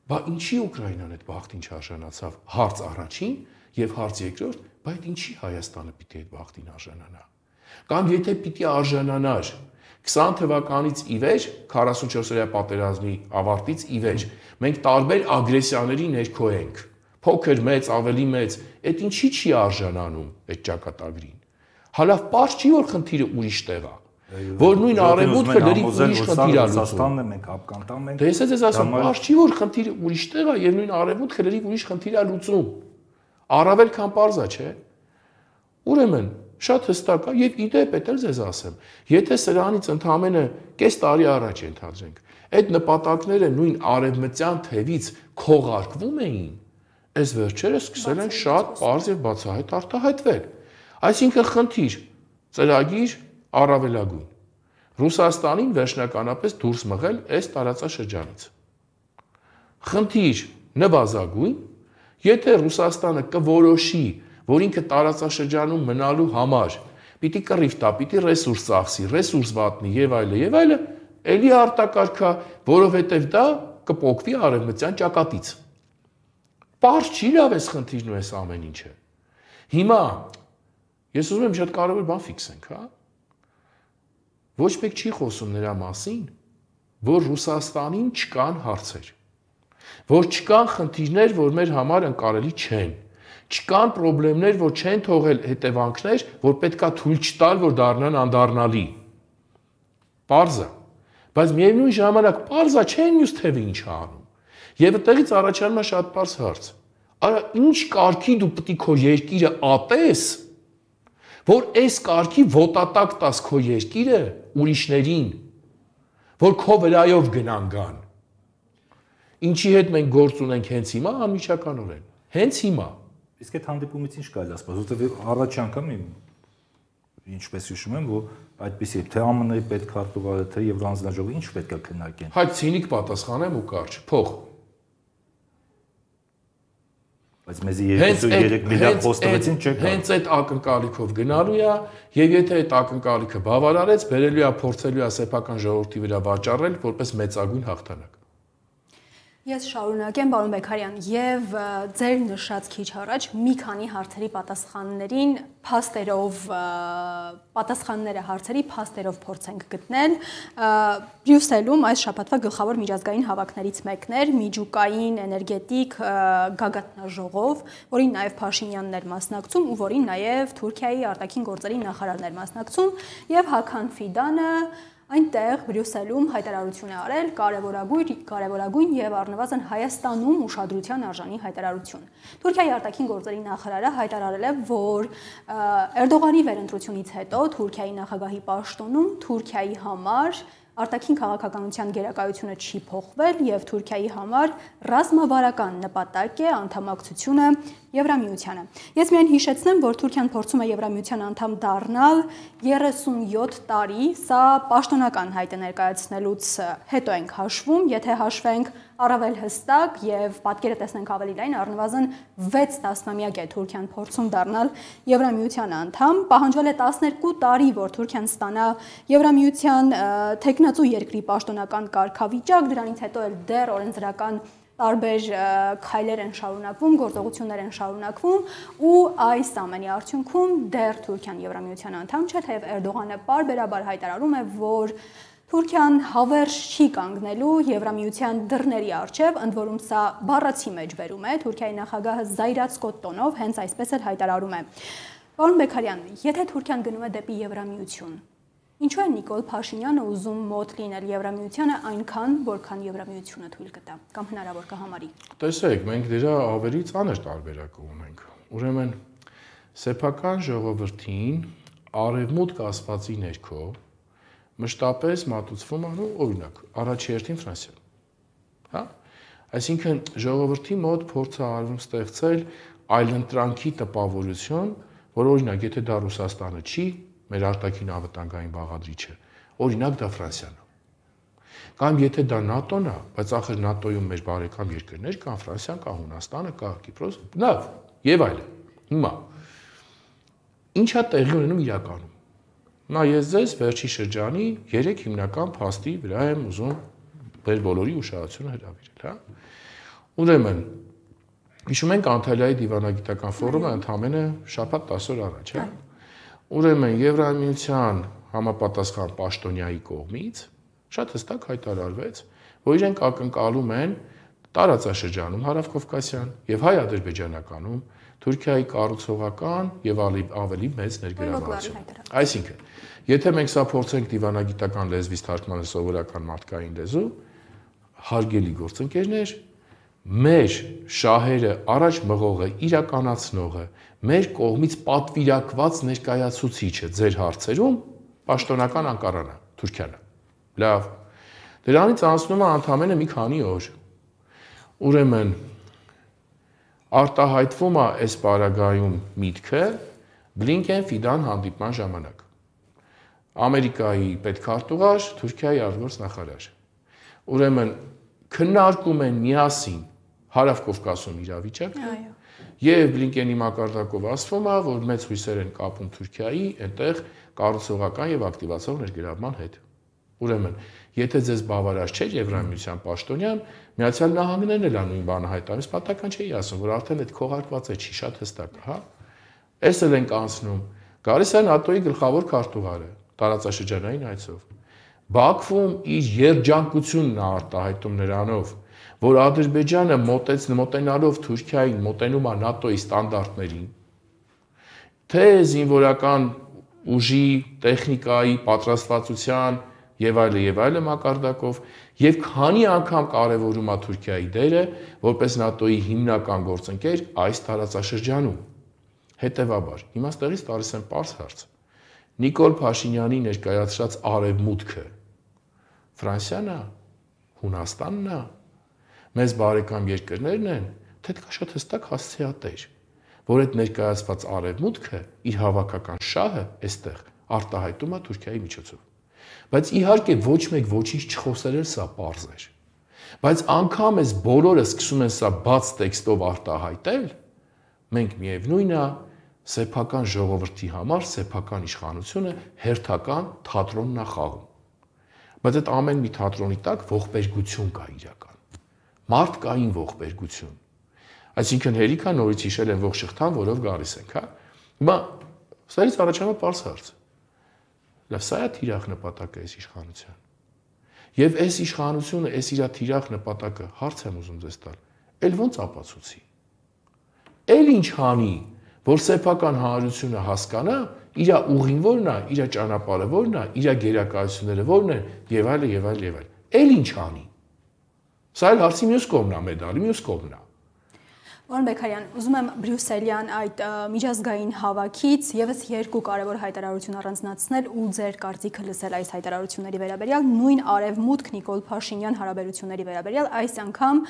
Բա ինչի Ուկրաինան այդ բախտին չարժանացավ, հարց առաջին եւ հարց երկրորդ, բայց ինչի Հայաստանը պիտի այդ բախտին արժանանա։ Կամ եթե պիտի արժանանար 20 թվականից ի վեր, 44-օրյա պատերազմի ավարտից ի վեր, մենք տարբեր ագրեսիաների ներքո ենք։ Փոքր, մեծ, ավելի մեծ, այդ ինչի չի արժանանում այդ ճակատագրին։ Հալավ պարզ չի, որ խնդիրը ուրիշ տեղ է։ Որ նույն արևմուտքը դրի ուրիշ խնդիր է լուծում։ Մենք հապկանտամ ենք։ Դե ես ես ասում, պարզ չի, որ խնդիրը ուրիշ տեղ է եւ նույն արևմուտքը դրի ուրիշ խնդիր է լուծում։ Առավել քան պարզ է, չէ՞։ Ուրեմն շատ հստակ է եւ իդեպ է դեռ ձեզ ասեմ, եթե սրանից ընդամենը կես տարի առաջ ենթադրենք, այդ նպատակները նույն արևմտյան թևից քողարկվում էին, այս վերջերս սկսել են շատ պարզ եւ բացահայտ արտահայտվել։ Այսինքն խնդիր, ծրագիր առավելագույն։ Ռուսաստանին վերջնականապես դուրս մղել այս տարածաշրջանից։ Խնդիր նվազագույն, եթե Ռուսաստանը կորոշի, որ ինքը տարածաշրջանում մնալու համար պիտի կռիվ տա, պիտի ռեսուրս ծախսի, ռեսուրս վատնի եւ այլը, էլի արտակարգա, որովհետեւ դա կփոխվի արևմտյան ճակատից։ Պարզ չի լավ էս խնդիրն ու էս ամեն ինչը։ Հիմա ես ուզում եմ շատ կարևոր բան ֆիքսենք, հա։ Ոչ մեկ չի խոսում նրա մասին, որ Ռուսաստանին չկան հարցեր, որ չկան խնդիրներ, որ մեր համար ընկալելի չեն, չկան խնդիրներ, որ չեն թողել հետևանքներ, որ պետքա թույլ չտալ, որ դառնան անդառնալի։ Պարզ է, բայց միևնույն ժամանակ պարզ է, չէ՞ մյուս թևը ինչ է անում։ Եվ այդտեղից առաջանում է շատ պարզ հարց։ Արա ինչ կարգի դու պետք է քո երկիրը ատես, որ այս կարգի ոտատակ տաս քո երկիրը ուրիշներին, որ քո վրայով գնան գան։ Ինչի հետ մենք գործ ունենք հենց հիմա, անմիջականորեն։ Հենց հիմա։ Իսկ այդ հանդիպումից ինչ կարելի ասել, որովհետև առաջի անգամ ինչպես հիշում եմ, որ այդպեսի թե ԱՄՆ-ի պետքարտուղարը, թե Եվրանձնաժողովը ինչ պետք է քննարկեն։ Հայ ցինիկ պատասխանեմ ու կարճ, փող։ Բայց մեզի 2-3 միլիարդ խոստովեցին չեք։ Հենց այդ ակնկալիքով գնալու է, եւ եթե այդ ակնկալիքը բավարարեց, բերելու է փորձելու է սեփական ժողովրդի վրա վաճառել որպես մեծագույն հաղթանակ։ Ես շարունակեմ, պարոն Բեգարյան, եւ ձեր նշած քիչ առաջ մի քանի հարցերի պատասխաններին պատասխանները հարցերի փաստերով փորձենք գտնել։ Բրյուսելում այս շաբաթվա գլխավոր միջազգային հավաքներից մեկն էր միջուկային էներգետիկ գագաթնաժողով, որին նաեւ Փաշինյանն էր մասնակցում ու որին նաեւ Թուրքիայի արտաքին գործերի նախարարն էր մասնակցում, եւ Հական Ֆիդանը այնտեղ Բրյուսելում հայտարարություն է արել կարևորագույն եւ առնվազն Հայաստանում ուշադրության արժանի հայտարարություն։ Թուրքիայի արտաքին գործերի նախարարը հայտարարել է, որ Էրդողանի վերընտրությունից հետո Թուրքիայի նախագահի պաշտոնում Թուրքիայի համար արտաքին քաղաքականության գերակայությունը չի փոխվել եւ Թուրքիայի համար ռազմավարական նպատակ է անդամակցությունը Եվրամիությանը։ Ես միայն հիշեցնեմ, որ Թուրքիան փորձում է Եվրամիության անդամ դառնալ 37 տարի, սա պաշտոնական հայտ է ներկայացնելուց հետո ենք հաշվում, եթե հաշվենք առավել հստակ եւ պատկերը տեսնենք ավելի լայն, առնվազն 6 տասնամյակ է Թուրքիան փորձում դառնալ Եվրամիության անդամ, պահանջվել է 12 տարի, որ Թուրքիան ստանա Եվրամիության թեկնածու երկրի պաշտոնական կարգավիճակ, դրանից հետո էլ դեռ օրենսդրական տարբեր քայլեր են շարունակվում, գործողություններ են շարունակվում ու այս ամենի արդյունքում դեռ Թուրքիան Եվրամիության անդամ չէ, թեև Էրդողանը պարբերաբար հայտարարում է, որ Թուրքիան հավերժ չի կանգնելու Եվրամիության դռների առջև, ընդ որում սա բառացի մեջ վերում է, Թուրքիայի նախագահը զայրացկոտ տոնով հենց այսպես էլ հայտարարում է։ Պարոն Բեգարյան, եթե Թուրքիան գնում է դեպի Եվրամիություն, ինչու է Նիկոլ Փաշինյանը ուզում մոտ լինել Եվրամիությանը այնքան, որքան Եվրամիությունը թույլ կտա, կամ հնարավոր կհամարի։ Տեսեք, մենք դրա ավելի ծանր տարբերակ ունենք։ Ուրեմն սեփական ժողովրդին արևմուտք ասվածի ներքո մշտապես մատուցվում է, օրինակ, առաջի հերթին Ֆրանսիան։ Հա? Այսինքն ժողովրդի մոտ փորձ է արվում ստեղծել այլընտրանքի տպավորություն, որ օրինակ, եթե դա Ռուսաստանը չի, մեր արտաքին անվտանգային բաղադրիչը, օրինակ դա Ֆրանսիան է։ Կամ եթե դա ՆԱՏՕ-ն է, բայց ախր ՆԱՏՕ-ում մեր բարեկամ երկրներ կան, Ֆրանսիան կա, Հունաստանը կա, Կիպրոս, լավ, եւ այլն։ Հիմա ի՞նչ է տեղի ունենում իրականում։ Նա ես ձեզ վերջի շրջանի 3 հիմնական փաստի վրա եմ ուզում մեր բոլորի ուշադրությունը հրավիրել, հա։ Ուրեմն հիշում ենք Անտալիայի դիվանագիտական ֆորումը ընդամենը շաբաթ 10 օր առաջ, հա։ Ուրեմն Եվրամիության համապատասխան պաշտոնյայի կողմից շատ հստակ հայտարարվեց, որ իրենք ակնկալում են տարածաշրջանում Հարավկովկասյան եւ հայ-ադրբեջանականում Թուրքիայի կառուցողական եւ ավելի մեծ ներգրավվածություն։ Այսինքն, եթե մենք սա փորձենք դիվանագիտական լեզվից թարգմանել սովորական մարդկային լեզու, հարգելի գործընկերներ, մեր շահերը առաջ մղողը, իրականացնողը, մեր կողմից պատվիրակված ներկայացուցիչը ձեր հարցերում պաշտոնական Անկարան է, Թուրքիան է։ Լավ։ Դրանից անցնում է ընդամենը մի քանի օր։ Ուրեմն արտահայտվում է այս պարագայում միտքը Բլինկեն-Ֆիդան հանդիպման ժամանակ։ Ամերիկայի պետքարտուղար, Թուրքիայի արտգործ նախարար։ Ուրեմն քննարկում են միասին Հարավկովկասում իրավիճակը եւ Բլինկենի մակարդակով ասվում է, որ մեծ հույսեր են կապում Թուրքիայի այնտեղ կառուցողական եւ ակտիվացող ներգրավման հետ։ Ուրեմն, եթե ձեզ բավարար չէ Եվրամիության պաշտոնյան, Միացյալ Նահանգներն էլ նույն բանը հայտարարում, պատական չի ասում, որ արդեն այդ քողարկված է չի, շատ հստակ է, հա։ Էս էլ ենք անցնում։ Գալիս է ՆԱՏՕ-ի գլխավոր քարտուղարը, տարածաշրջանային այցով։ Բաքվում իր երջանկությունն է արտահայտում նրանով, որ Ադրբեջանը մոտենալով Թուրքիային մոտենում է ՆԱՏՕ-ի ստանդարտներին, թե զինվորական ուժի, տեխնիկայի, պատրաստվածության եւ այլն մակարդակով եւ քանի անգամ կարեւորում է Թուրքիայի դերը որպես ՆԱՏՕ-ի հիմնական գործընկեր այս տարածաշրջանում։ Հետևաբար, հիմա ստեղից տալիս եմ պարզ հարց։ Նիկոլ Փաշինյանի ներկայացրած արևմուտքը Ֆրանսիան է, Հունաստանն է, մեզ բարեկամ երկրներն են, թե դա շատ հստակ հասցեատեր, որ այդ ներկայացված արևմուտքը իր հավաքական շահը այստեղ արտահայտում է Թուրքիայի միջոցով։ Բայց իհարկե ոչ մեկ ոչինչ չխոսել էր, սա պարզ էր։ Բայց անգամ այս բոլորը սկսում են սա բաց տեքստով արտահայտել, մենք միևնույնն է սեփական ժողովրդի համար սեփական իշխանությունը հերթական թատրոնն է խաղում։ Բայց այդ ամեն մի թատրոնի տակ ողբերգություն կա իրական։ Մարդկային ողբերգություն։ Այսինքն հերիքա նորից հիշել են ողջ շղթան, որով գալիս ենք, հա։ Հիմա սրանից առաջանում է պարզ հարց։ Լավ, սա է թիրախ նպատակը այս իշխանության։ Եվ այս իշխանությունը, այս իր թիրախ նպատակը հարց եմ ուզում ձեզ տալ։ Էլ ոնց ապացուցի։ Էլ ինչ հանի, որ սեփական հանրությունը հասկանա, իր ուղին որն է, իր ճանապարհը որն է, իր գերակայությունները որն են, եւ այլն եւ այլն եւ այլն։ Էլ ինչ հանի։ Սա էլ հարցի մյուս կողմն է, մեդալի մյուս կողմն է։ Պարոն Բեկարյան, ուզում եմ Բրյուսելյան այդ միջազգային հավաքից եւս երկու կարևոր հայտարարություն առանձնացնել ու ձեր կարծիքը լսել այս հայտարարությունների վերաբերյալ, նույն Արևմուտք Նիկոլ Փաշինյան հարաբերությունների վերաբերյալ, այս անգամ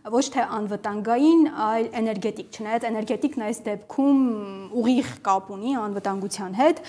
ոչ թե անվտանգային, այլ էներգետիկ, չնայած էներգետիկն այս դեպքում ուղիղ կապ ունի անվտանգության հետ։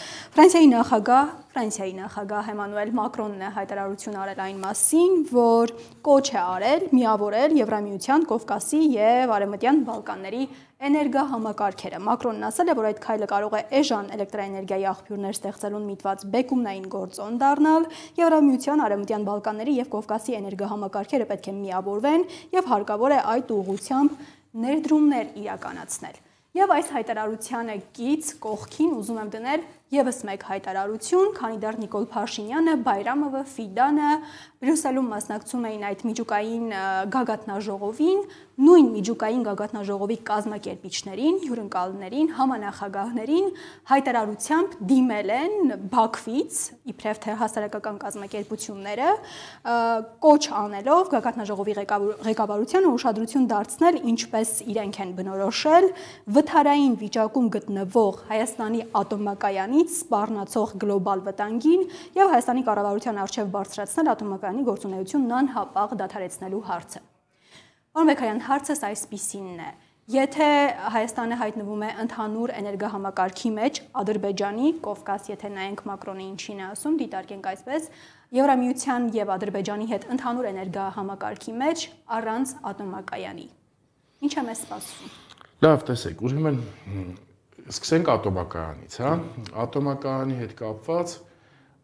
Ֆրանսիայի նախագահ Էմանուել Մակրոնն է հայտարարություն արել այն մասին, որ կոչ է արել միավորել Եվրամիության, Կովկասի եւ Արևմտյան Բալկանների էներգահամակարգերը։ Մակրոնն ասել է, որ այդ քայլը կարող է էժան էլեկտրաէներգիայի աղբյուրներ ստեղծելուն միտված բեկումնային գործոն դառնալ։ Եվրամիության, Արևմտյան Բալկանների եւ Կովկասի էներգահամակարգերը պետք է միավորվեն եւ հարկավոր է այդ ուղղությամբ ներդրումներ իրականացնել։ Եվ այս հայտարարությանը կից կողքին ուզում եմ դնել եւս մեկ հայտարարություն, քանի դեռ Նիկոլ Փաշինյանը, Բայրամովը, Ֆիդանը Բրյուսելում մասնակցում էին այդ միջուկային գագաթնաժողովին, նույն միջուկային գագաթնաժողովի կազմակերպիչներին, հյուրընկալներին, համանախագահներին հայտարարությամբ դիմել են Բաքվից, իբրև թե հասարակական կազմակերպությունները, կոչ անելով գագաթնաժողովի ղեկավարությանը ուշադրություն դարձնել, ինչպես իրենք են բնորոշել, վթարային վիճակում գտնվող Հայաստանի ատոմակայանից սպառնացող գլոբալ վտանգին եւ Հայաստանի կառավարության արչեւ բարձրացնել ատոմակայանի գործունեությունն անհապաղ դադարեցնելու հարցը։ Պարոն Բեկարյան, հարցս այսպիսինն է. Եթե Հայաստանը հայտնվում է ընդհանուր էներգահամակարգի մեջ, Ադրբեջանի, Կովկաս, եթե նայենք Մակրոնի ինչին է ասում, դիտարկենք այսպես, Եվրամիության եւ Ադրբեջանի հետ ընդհանուր էներգահամակարգի մեջ առանց ատոմակայանի։ Ինչ է մեզ սպասում։ Լավ, տեսեք, ուրեմն սկսենք ատոմակայանից, հա։ Ատոմակայանի հետ կապված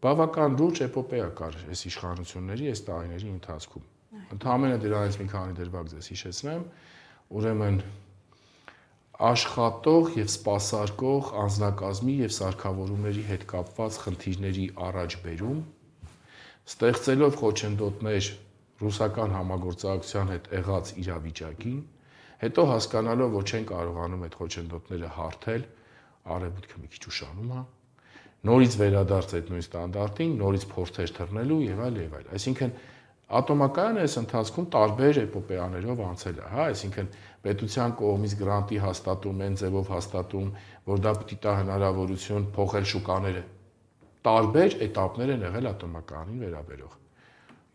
բավական լուրջ էպոպեա կար այս իշխանությունների այս տարիների ընթացքում։ Ընդհանրապես դրանից մի քանի դրվագ ձեզ հիշեցնեմ, ուրեմն աշխատող եւ սպասարկող անձնակազմի եւ սարքավորումների հետ կապված խնդիրների առաջբերում, ստեղծելով խոչընդոտներ ռուսական համագործակցության հետ եղած իրավիճակին, հետո հասկանալով, որ չեն կարողանում այդ խոչընդոտները հարթել, արևմուտքը մի քիչ ուշանում է, նորից վերադարձ այդ նույն ստանդարտին, նորից փորձեր թռնելու եւ այլ եւ այլ։ Այսինքն ատոմակայանը այս ընթացքում տարբեր էպոպեաներով անցել է, հա, այսինքն պետության կողմից գրանտի հաստատում, այն ձևով հաստատում, որ դա պիտի տա հնարավորություն փոխել շուկաները։ Տարբեր էտապներ են եղել ատոմականին վերաբերող։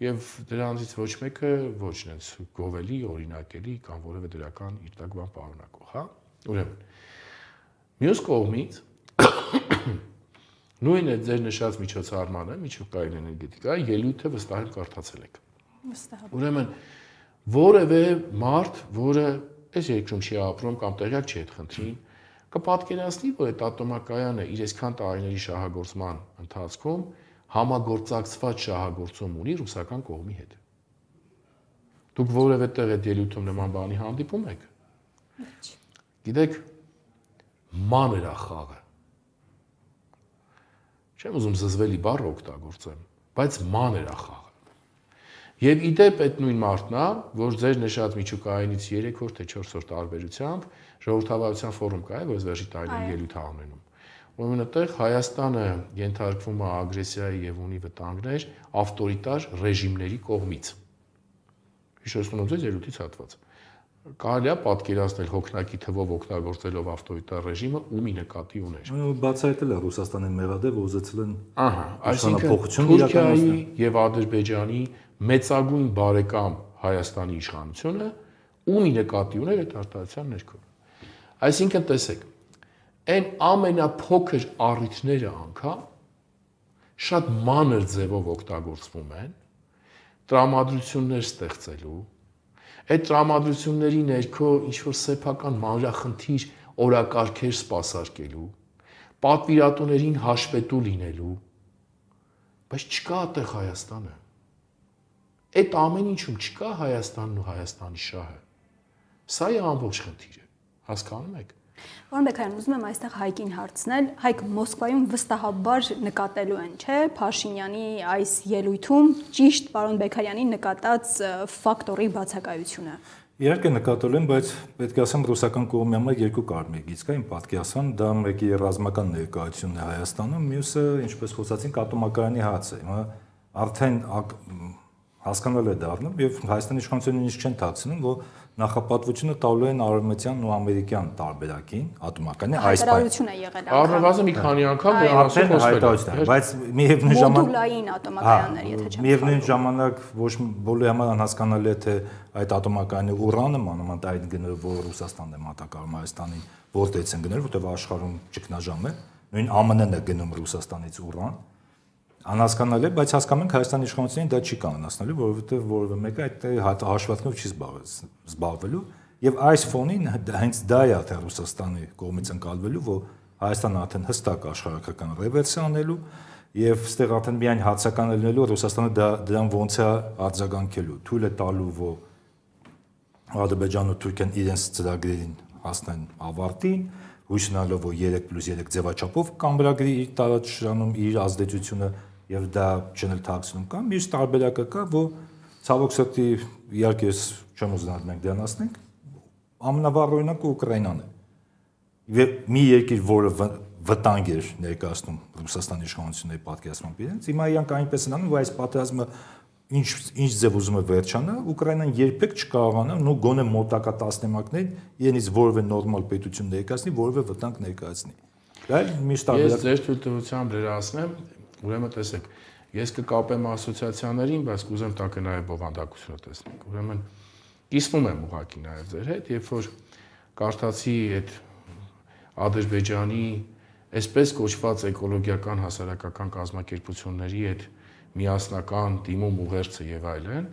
Եվ դրանցից ոչ մեկը ոչ նենց գովելի, օրինակելի կամ որևէ դրական իր տակ բան պարունակող, հա։ Ուրեմն մյուս կողմից նույն է ձեր նշած միջոցառմանը, միջուկային էներգետիկայի ելույթը վստահ եմ կարդացել եք։ Վստահ։ Ուրեմն որևէ մարդ, որը այս երկրում չի ապրում կամ տեղյակ չի այդ խնդրին, կպատկերացնի, որ այդ ատոմակայանը իր այսքան տարիների շահագործման ընթացքում համագործակցված շահագործում ունի ռուսական կողմի հետ։ Դուք որևէ տեղ այդ ելույթում նման բանի հանդիպում եք։ Գիտեք, մանր է խաղը։ Չեմ ուզում զզվելի բառ օգտագործեմ, բայց մանր է խաղը։ Եվ իդեպ այդ նույն մարդն է, որ ձեր նշած միջուկայինից 3-րդ թե 4-րդ տարբերությամբ ժողովրդավարության ֆորում կա, որ վերջի տարիների ելույթ է ունենում։ Ուրեմն այդտեղ Հայաստանը ենթարկվում է ագրեսիայի եւ ունի վտանգներ ավտորիտար ռեժիմների կողմից։ Հիշեցնում եմ ձեզ ելույթից հատված։ Կարելի է պատկերացնել հոգնակի թվով օգտագործելով ավտորիտար ռեժիմը ումի նկատի ուներ։ Բացահայտել է Ռուսաստանի մեղադը, որ ուզեցել են այսինքն Թուրքիայի եւ Ադրբեջանի մեծագույն բարեկամ Հայաստանի իշխանությունը ումի նկատի ուներ այդ արտահայտության ներքո։ Այսինքն տեսեք, այն ամենափոքր առիթները անգամ շատ մանր ձևով օգտագործվում են տրամադրություններ ստեղծելու, այդ տրամադրությունների ներքո ինչ-որ սեփական մանրախնդիր օրակարգեր սպասարկելու, պատվիրատուներին հաշվետու լինելու, բայց չկա այդտեղ Հայաստանը։ Այդ ամեն ինչում չկա Հայաստանն ու Հայաստանի շահը։ Սա է ամբողջ խնդիրը, հասկանում եք։ Պարոն Բեգարյան, ուզում եմ այստեղ Հայկին հարցնել, Հայկ Մոսկվայում վստահաբար նկատելու են, չէ՞, Փաշինյանի այս ելույթում ճիշտ պարոն Բեգարյանի նկատած ֆակտորի բացակայությունը։ Իհարկե նկատել եմ, բայց պետք է ասեմ ռուսական կողմի համար երկու կարմիր գիծ կա, իմ պատկերացան, դա մեկի ռազմական ներկայությունն է Հայաստանում, մյուսը, ինչպես խոսացինք, ատոմակայանի հացը։ Հիմա արդեն հասկանալ է դառնում եւ Հայաստանի իշխանությունները նույնիսկ չեն թաքցնում, որ նախապատվությունը տալու են արևմտյան ու ամերիկյան տարբերակին ատոմակայանի այս հայտարարություն է եղել առնվազն մի քանի անգամ դրանով հայտարարություն, բայց միևնույն ժամանակ մոդուլային ատոմակայաններ, եթե չեմ միևնույն ժամանակ ոչ բոլորի համար անհասկանալի է թե այդ ատոմակայանի ուրանը մանավանդ այդ գները, որ Ռուսաստանն է մատակարարում Հայաստանին, որտեղից են գնել, որտեղ աշխարհում ճգնաժամ է, նույն ԱՄՆ-ն է գնում Ռուսաստանից ուրան անհասկանալի է, բայց հասկանում ենք Հայաստանի իշխանություններին դա չի կանոնացնելու, որովհետև որևէ մեկը այդ հաշվարկներով չի զբաղվելու եւ այս ֆոնին հենց դա է արդեն Ռուսաստանի կողմից ընկալվելու, որ Հայաստանը արդեն հստակ աշխարհակական ռևերսիա անելու եւ այստեղ արդեն միայն հացական լինելու Ռուսաստանը դրան ոնց է արձագանքելու, թույլ է տալու, որ Ադրբեջանն ու Թուրքիան իրենց ծրագրերին հասնեն ավարտին, հույս ունենալով, որ 3+3 ձևաչափով կամբրագրի իր տարածաշրջանում իր ազդեցությունը եւ դա չնել թաքցնում կամ մյուս տարբերակը կա, որ ցավոք սրտի իհարկե ես չեմ ուզենալ մենք դրան ասենք, ամենավառ Ուկրաինան է։ Եվ մի երկիր, որը վտանգ էր ներկայացնում Ռուսաստանի իշխանությունների պատկերացմամբ իրենց, հիմա իրանք այնպես են անում, որ այս պատերազմը ինչ ձև ուզում է վերջանա, Ուկրաինան երբեք չկարողանա նո գոնե մոտակա տասնամյակներին իրենից որևէ նորմալ պետություն ներկայացնի, որևէ վտանգ ներկայացնի։ Դա միշտ տարբերակ։ Ես ձեր թույլտվությամբ լրացնեմ, ուրեմն տեսեք, ես կկապեմ ասոցիացիաներին, բայց կուզեմ տակը նաև բովանդակությունը տեսնենք։ Ուրեմն կիսվում եմ ուղղակի նաև ձեր հետ, երբ որ կարդացի այդ Ադրբեջանի այսպես կոչված էկոլոգիական հասարակական կազմակերպությունների այդ միասնական դիմում ուղերձը եւ այլն,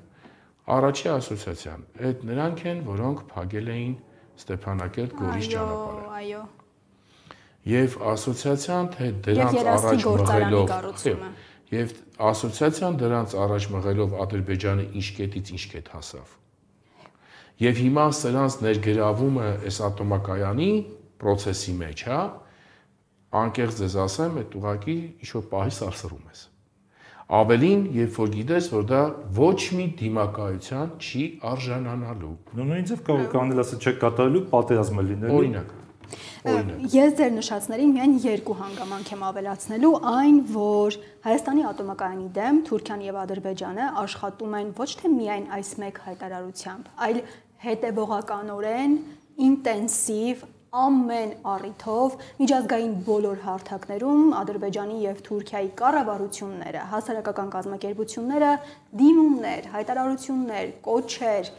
առաջի ասոցիացիան, այդ նրանք են, որոնք փակել էին Ստեփանակերտ Գորիս ճանապարհը։ Այո։ Եվ ասոցիացիան թե դրանց առաջ մղելով, եւ ասոցիացիան դրանց առաջ մղելով Ադրբեջանը ինչ կետից ինչ կետ հասավ։ Եվ հիմա սրանց ներգրավումը այս ատոմակայանի process-ի մեջ, հա, անկեղծ ձեզ ասեմ, այդ ուղակի ինչ-որ պահի սարսռում ես։ Ավելին, երբ որ գիտես, որ դա ոչ մի դիմակայության չի արժանանալու։ Նույն ձև կարող կանել ասել չեք կատարելու, պատերազմը լինելու։ Օրինակ։ Ես ձեր նշածներին միայն երկու հանգամանք եմ ավելացնելու, այն, որ Հայաստանի ատոմակայանի դեմ Թուրքիան եւ Ադրբեջանը աշխատում են ոչ թե միայն այս մեկ հայտարարությամբ, այլ հետևողականորեն, ինտենսիվ ամեն առիթով միջազգային բոլոր հարթակներում Ադրբեջանի եւ Թուրքիայի կառավարությունները, հասարակական կազմակերպությունները դիմումներ, հայտարարություններ, կոչեր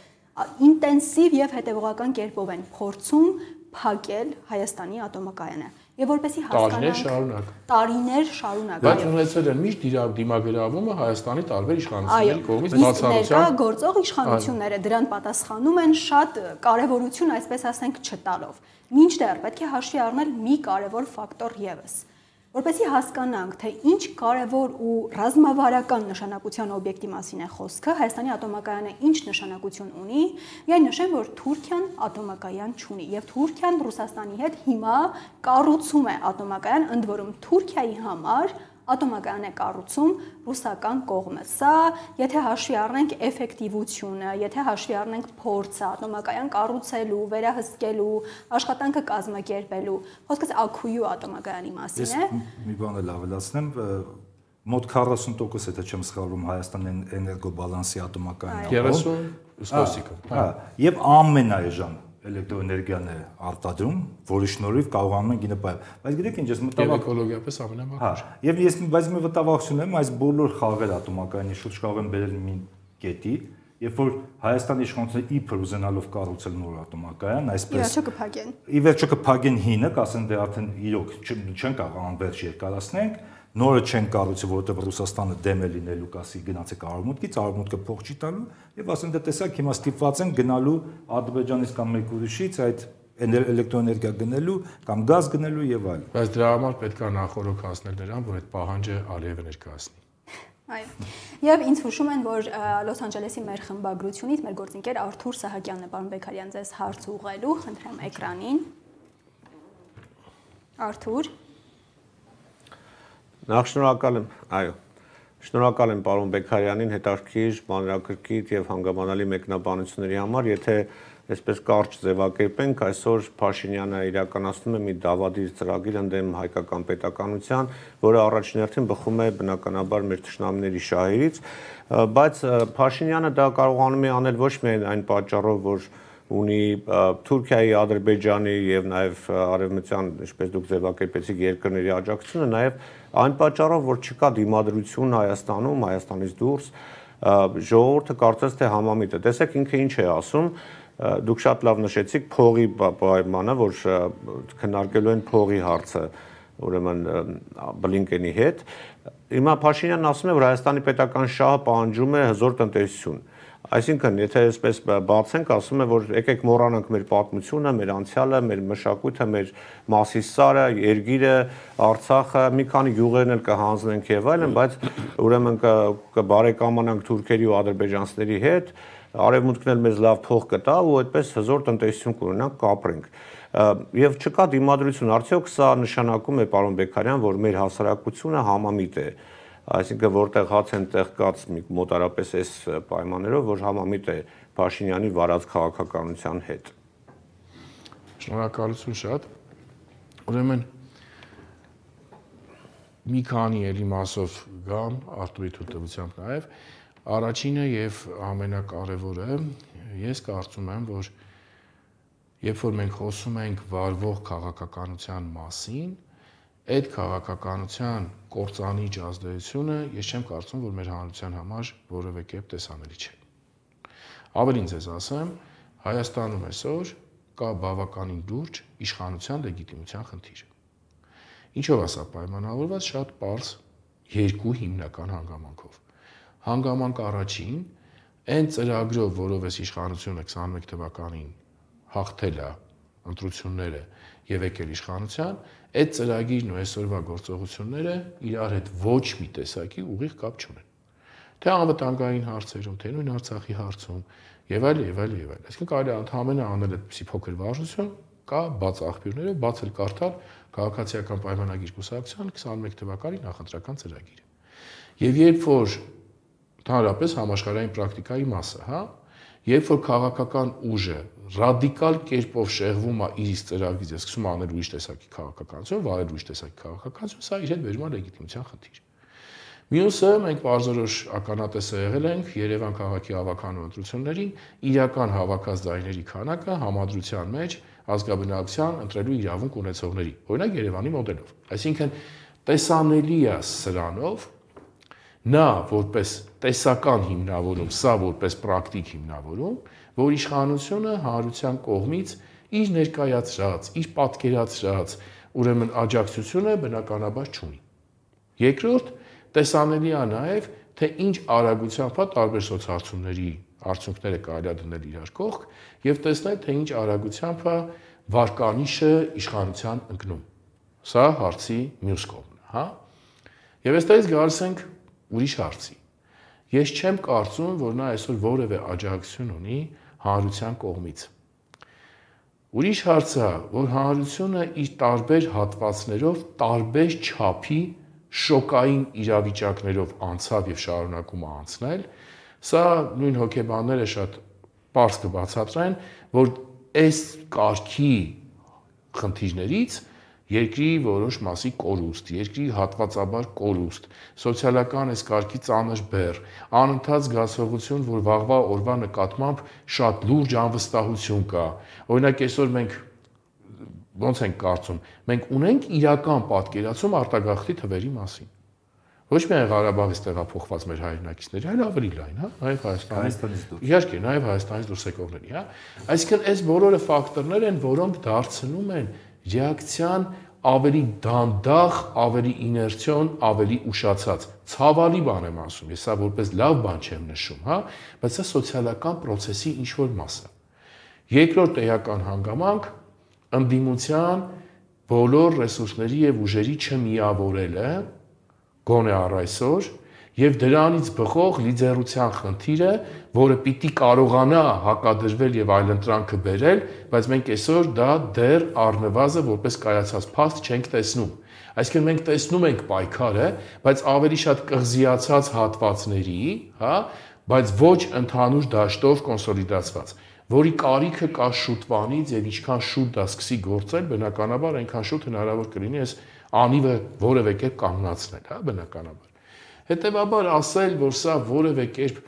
ինտենսիվ եւ հետեւողական կերպով են փորձում փակել Հայաստանի ատոմակայանը եւ որպեսի հասկանանք տարիներ շարունակ բայց ունեցել են միշտ դիմագրավումը Հայաստանի տարբեր իշխանությունների կողմից բացառությամբ ներկա գործող իշխանությունները դրան պատասխանում են շատ կարեւորություն, այսպես ասենք, չտալով։ Մինչդեռ պետք է հաշվի առնել մի կարևոր ֆակտոր եւս, որպեսզի հասկանանք, թե ինչ կարևոր ու ռազմավարական նշանակության օբյեկտի մասին է խոսքը, Հայաստանի ատոմակայանը ինչ նշանակություն ունի, միայն նշեմ, որ Թուրքիան ատոմակայան չունի եւ Թուրքիան Ռուսաստանի հետ հիմա կառուցում է ատոմակայան, ընդ որում Թուրքիայի համար ատոմակայան է կառուցում ռուսական կողմը։ Սա, եթե հաշվի առնենք էֆեկտիվությունը, եթե հաշվի առնենք փորձը ատոմակայան կառուցելու, վերահսկելու, աշխատանքը կազմակերպելու, խոսքս Աքույու ատոմակայանի մասին է։ Մի բան էլ ավելացնեմ, մոտ 40%, եթե չեմ սխալվում, Հայաստանի էներգոբալանսի ատոմակայանի 30%, հա, եւ ամենաէժան էլեկտրոէներգիան է արտադրում, որի շնորհիվ կարողանում են գինը պայել։ Բայց գիտեք ինչ, ես մտավախ էկոլոգիապես ամենամաքուր։ Եվ ես բայց մի վտավախություն եմ, այս բոլոր խաղերը ատոմակայանի շուրջ կարող են բերել մի կետի, երբ որ Հայաստանի իշխանությունները իբր ուզենալով կառուցել նոր ատոմակայան, այսպես ի վերջո կփակեն հինը, կասեն դե արդեն իրոք չեն կարող անվերջ երկարացնենք, նորը չեն կառուցի, որովհետև Ռուսաստանը դեմ է լինելու, կասի գնացեք արևմուտքից, արևմուտքը փող չի տալու, եւ ասեն դե տեսակ հիմա ստիպված են գնալու Ադրբեջանից կամ մեկ ուրիշից այդ էլեկտրոէներգիա գնելու կամ գազ գնելու եւ այլն։ Բայց դրա համար պետք է նախորոք հասնել նրան, որ այդ պահանջը Ալիևը ներկայացնի։ Այո։ Եվ ինձ հուշում են, որ Լոս Անջելեսի մեր խմբագրությունից մեր գործընկեր Արթուր Սահակյանն է, պարոն Բեկարյան, ձեզ հարց ուղղելու, խնդրեմ էկրանին։ Արթուր։ Նախ շնորհակալ եմ, այո։ Շնորհակալ եմ պարոն Բեկարյանին հետաքրքիր, մանրակրկիտ եւ հանգամանալի մեկնաբանությունների համար, եթե այսպես կարճ ձևակերպենք, այսօր Փաշինյանը իրականացնում է մի դավադիր ծրագիր ընդդեմ հայկական պետականության, որը առաջին հերթին բխում է բնականաբար մեր թշնամիների շահերից, բայց Փաշինյանը դա կարողանում է անել ոչ միայն այն պատճառով, որ ունի Թուրքիայի, Ադրբեջանի եւ նաեւ արևմտյան, ինչպես դուք ձևակերպեցիք, երկրների աջակցությունը, նաեւ այն պատճառով, որ չկա դիմադրություն Հայաստանում, Հայաստանից դուրս, ժողովուրդը կարծես թե համամիտ է։ Տեսեք ինքը ինչ է ասում, դուք շատ լավ նշեցիք փողի պայմանը, որ քննարկելու են փողի հարցը, ուրեմն Բլինկենի հետ։ Հիմա Փաշինյանն ասում է, որ Հայաստանի պետական շահը պահանջում է հզոր տնտեսություն։ Այսինքն, եթե այսպես բացենք, ասում է, որ եկեք մոռանանք մեր պատմությունը, մեր անցյալը, մեր մշակույթը, մեր Մասիսարը, Երգիրը, Արցախը, մի քանի գյուղերն էլ կհանձնենք եւ այլն, բայց ուրեմն կբարեկամանանք թուրքերի ու ադրբեջանցիների հետ, արևմուտքն էլ մեզ լավ փող կտա ու այդպես հզոր տնտեսություն կունենանք, կապրենք։ Եվ չկա դիմադրություն, արդյոք սա նշանակում է, պարոն Բեկարյան, որ մեր հասարակությունը համամիտ է, այսինքն որտեղ հաց են տեղ կաց մոտարապես այս պայմաններով, որ համամիտ է Փաշինյանի վարած քաղաքականության հետ։ Շնորհակալություն շատ։ Ուրեմն մի քանի էլի մասով գամ Արտուրի թույլտվությամբ նաև առաջինը եւ ամենակարևորը ես կարծում եմ, որ երբ որ մենք խոսում ենք վարվող քաղաքականության մասին, այդ քաղաքականության կործանիչ ազդեցությունը ես չեմ կարծում, որ մեր հանրության համար որևէ կերպ տեսանելի չէ։ Ավելին ձեզ ասեմ, Հայաստանում այսօր կա բավականին լուրջ իշխանության լեգիտիմության խնդիր։ Ինչով է սա պայմանավորված, շատ պարզ երկու հիմնական հանգամանքով։ Հանգամանք առաջին, այն ծրագրով, որով այս իշխանությունը 21 թվականին հաղթել է ընտրությունները եւ եկել իշխանության, այդ ծրագիրն ու այսօրվա գործողությունները իրար հետ ոչ մի տեսակի ուղիղ կապ չունեն։ Թե անվտանգային հարցերում, թե նույն Արցախի հարցում եւ այլ եւ այլ եւ այլ։ Այսինքն կարելի է ընդհանրապես անել այդպիսի փոքր վարժություն, կա բաց աղբյուրներով, բաց էլ կարդալ քաղաքացիական պայմանագիր կուսակցության 21 թվականի նախընտրական ծրագիրը։ Եվ երբ որ ընդհանրապես համաշխարհային պրակտիկայի մասը, հա, երբ որ քաղաքական ուժը ռադիկալ կերպով շեղվում է իր ծրագրից, սկսում է անել ուրիշ տեսակի քաղաքականություն, վարել ուրիշ տեսակի քաղաքականություն, սա իր հետ բերում է լեգիտիմության խնդիր։ Մյուսը մենք բարձրորոշ ականատեսը եղել ենք Երևան քաղաքի հավաքանու ընտրություններին, իրական հավաքած ձայների քանակը համադրության մեջ ազգաբնակության ընտրելու իրավունք ունեցողների, օրինակ Երևանի մոդելով։ Այսինքն տեսանելի է սրանով նա որպես տեսական հիմնավորում, սա որպես պրակտիկ հիմնավորում, որ իշխանությունը հանրության կողմից իր ներկայացրած, իր պատկերացրած ուրեմն աջակցությունը բնականաբար չունի։ Երկրորդ, տեսանելի է նաև, թե ինչ արագությամբ տարբեր սոցհարցումների արդյունքները կարելի է դնել իրար կողք եւ տեսնել, թե ինչ արագությամբ վարկանիշը իշխանության ընկնում։ Սա հարցի մյուս կողմն է, հա։ Եվ այստեղից գալիս ենք ուրիշ հարցի։ Ես չեմ կարծում, որ նա այսօր որևէ աջակցություն ունի հանրության կողմից։ Ուրիշ հարցը, որ հանրությունը իր տարբեր հատվածներով տարբեր չափի շոկային իրավիճակներով անցավ եւ շարունակում է անցնել, սա նույն հոգեբանները շատ պարզ կբացատրեն, որ այս կարգի խնդիրներից երկրի որոշ մասի կորուստ, երկրի հատվածաբար կորուստ, սոցիալական այս կարգի ծանր բեռ, անընդհատ զգացողություն, որ վաղվա օրվա նկատմամբ շատ լուրջ անվստահություն կա։ Օրինակ այսօր մենք ոնց ենք կարծում, մենք ունենք իրական պատկերացում արտագաղթի թվերի մասին։ Ոչ միայն Ղարաբաղից տեղափոխված մեր հայրենակիցների, այլ ավելի լայն, հա, նաև Հայաստանից դուրս։ Իհարկե, նաև Հայաստանից դուրս եկողների, հա։ Այսինքն այս բոլորը ֆակտորներ են, որոնք դարձնում են ռեակցիան ավելի դանդաղ, ավելի իներցիոն, ավելի ուշացած։ Ցավալի բան եմ ասում, ես սա որպես լավ բան չեմ նշում, հա, բայց սա սոցիալական process-ի ինչ-որ մաս է։ Երկրորդ էական հանգամանք ընդդիմության բոլոր ռեսուրսների եւ ուժերի չմիավորելը գոնե առ այսօր եւ դրանից բխող լիդերության խնդիրը, որը պիտի կարողանա հակադրվել եւ այլընտրանքը բերել, բայց մենք այսօր դա դեռ առնվազն որպես կայացած փաստ չենք տեսնում։ Այսինքն մենք տեսնում ենք պայքարը, բայց ավելի շատ կղզիացած հատվածների, հա, բայց ոչ ընդհանուր դաշտով կոնսոլիդացված, որի կարիքը կա շուտվանից եւ ինչքան շուտ դա սկսի գործել, բնականաբար այնքան շուտ հնարավոր կլինի այս անիվը որևէ կերպ կանգնացնել, հա, բնականաբար։ Հետևաբար ասել, որ սա որևէ կերպ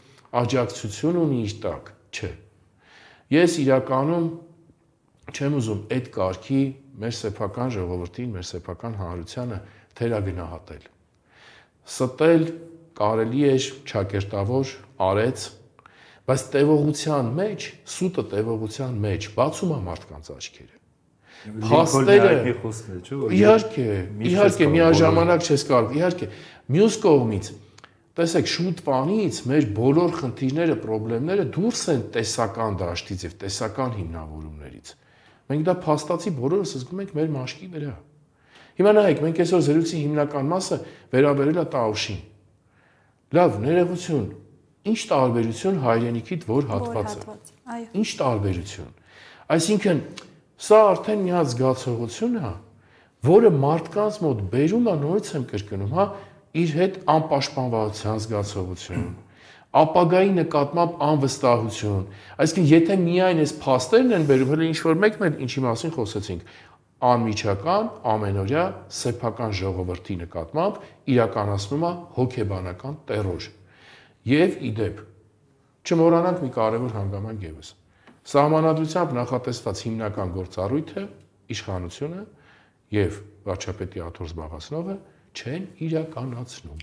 աջակցություն ունի իր տակ, չէ։ Ես իրականում չեմ ուզում այդ կարգի մեր սեփական ժողովրդին, մեր սեփական հանրությանը թերագնահատել։ Ստել կարելի է ճակերտավոր արեց, բայց տևողության մեջ, սուտը տևողության մեջ բացում է մարդկանց աչքերը։ Փաստերը իհարկե միաժամանակ չես կարող, իհարկե մյուս կողմից տեսեք շուտվանից մեր բոլոր խնդիրները, խնդիրները դուրս են տեսական դաշտից եւ տեսական հիմնավորումներից։ Մենք դա փաստացի բոլորս զգում ենք մեր մաշկի վրա։ Հիմա նայեք, մենք այսօր զրույցի հիմնական մասը վերաբերել է Տաուշին։ Լավ, ներողություն, ինչ տարբերություն հայրենիքիդ որ հատվածը։ Ինչ տարբերություն։ Այսինքն սա արդեն մի հատ զգացողություն է, որը մարդկանց մոտ բերում է, նորից եմ կրկնում, հա, իր հետ անպաշտպանվածության զգացողություն, ապագայի նկատմամբ անվստահություն։ Այսինքն, եթե միայն այս փաստերն են բերում, հələ ինչ-որ մեկն էլ ինչի մասին խոսեցինք, անմիջական, ամենօրյա սեփական ժողովրդի նկատմամբ իրականացնում է հոգեբանական տերոր։ Եվ իդեպ, չմոռանանք մի կարևոր հանգամանք ևս։ Սահմանադրությամբ նախատեսված հիմնական գործառույթը, իշխանությունը եւ վարչապետի աթոռ զբաղացնողը չեն իրականացնում։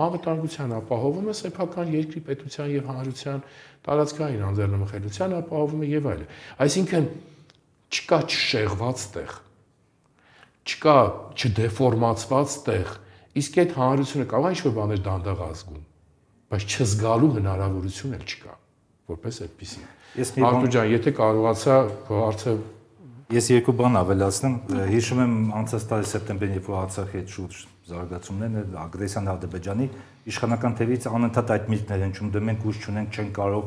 Անվտանգության ապահովումը սեփական երկրի պետության եւ հանրության տարածքային անձեռնմխելիության ապահովումը եւ այլն։ Այսինքն չկա չշեղված տեղ, չկա չդեֆորմացված տեղ, իսկ այդ հանրությունը կարող է ինչ-որ բաներ դանդաղ ազգում, բայց չզգալու հնարավորություն էլ չկա, որպես այդպեսի։ Արտուր ջան, եթե կարողացա քո հարցը ես երկու բան ավելացնեմ, հիշում եմ անցած տարի սեպտեմբերին, երբ որ Արցախի հետ շուրջ զարգացումներն, ագրեսիան Ադրբեջանի իշխանական թևից անընդհատ այդ միտքներ են ճում, դե մենք ուժ չունենք, չեն կարող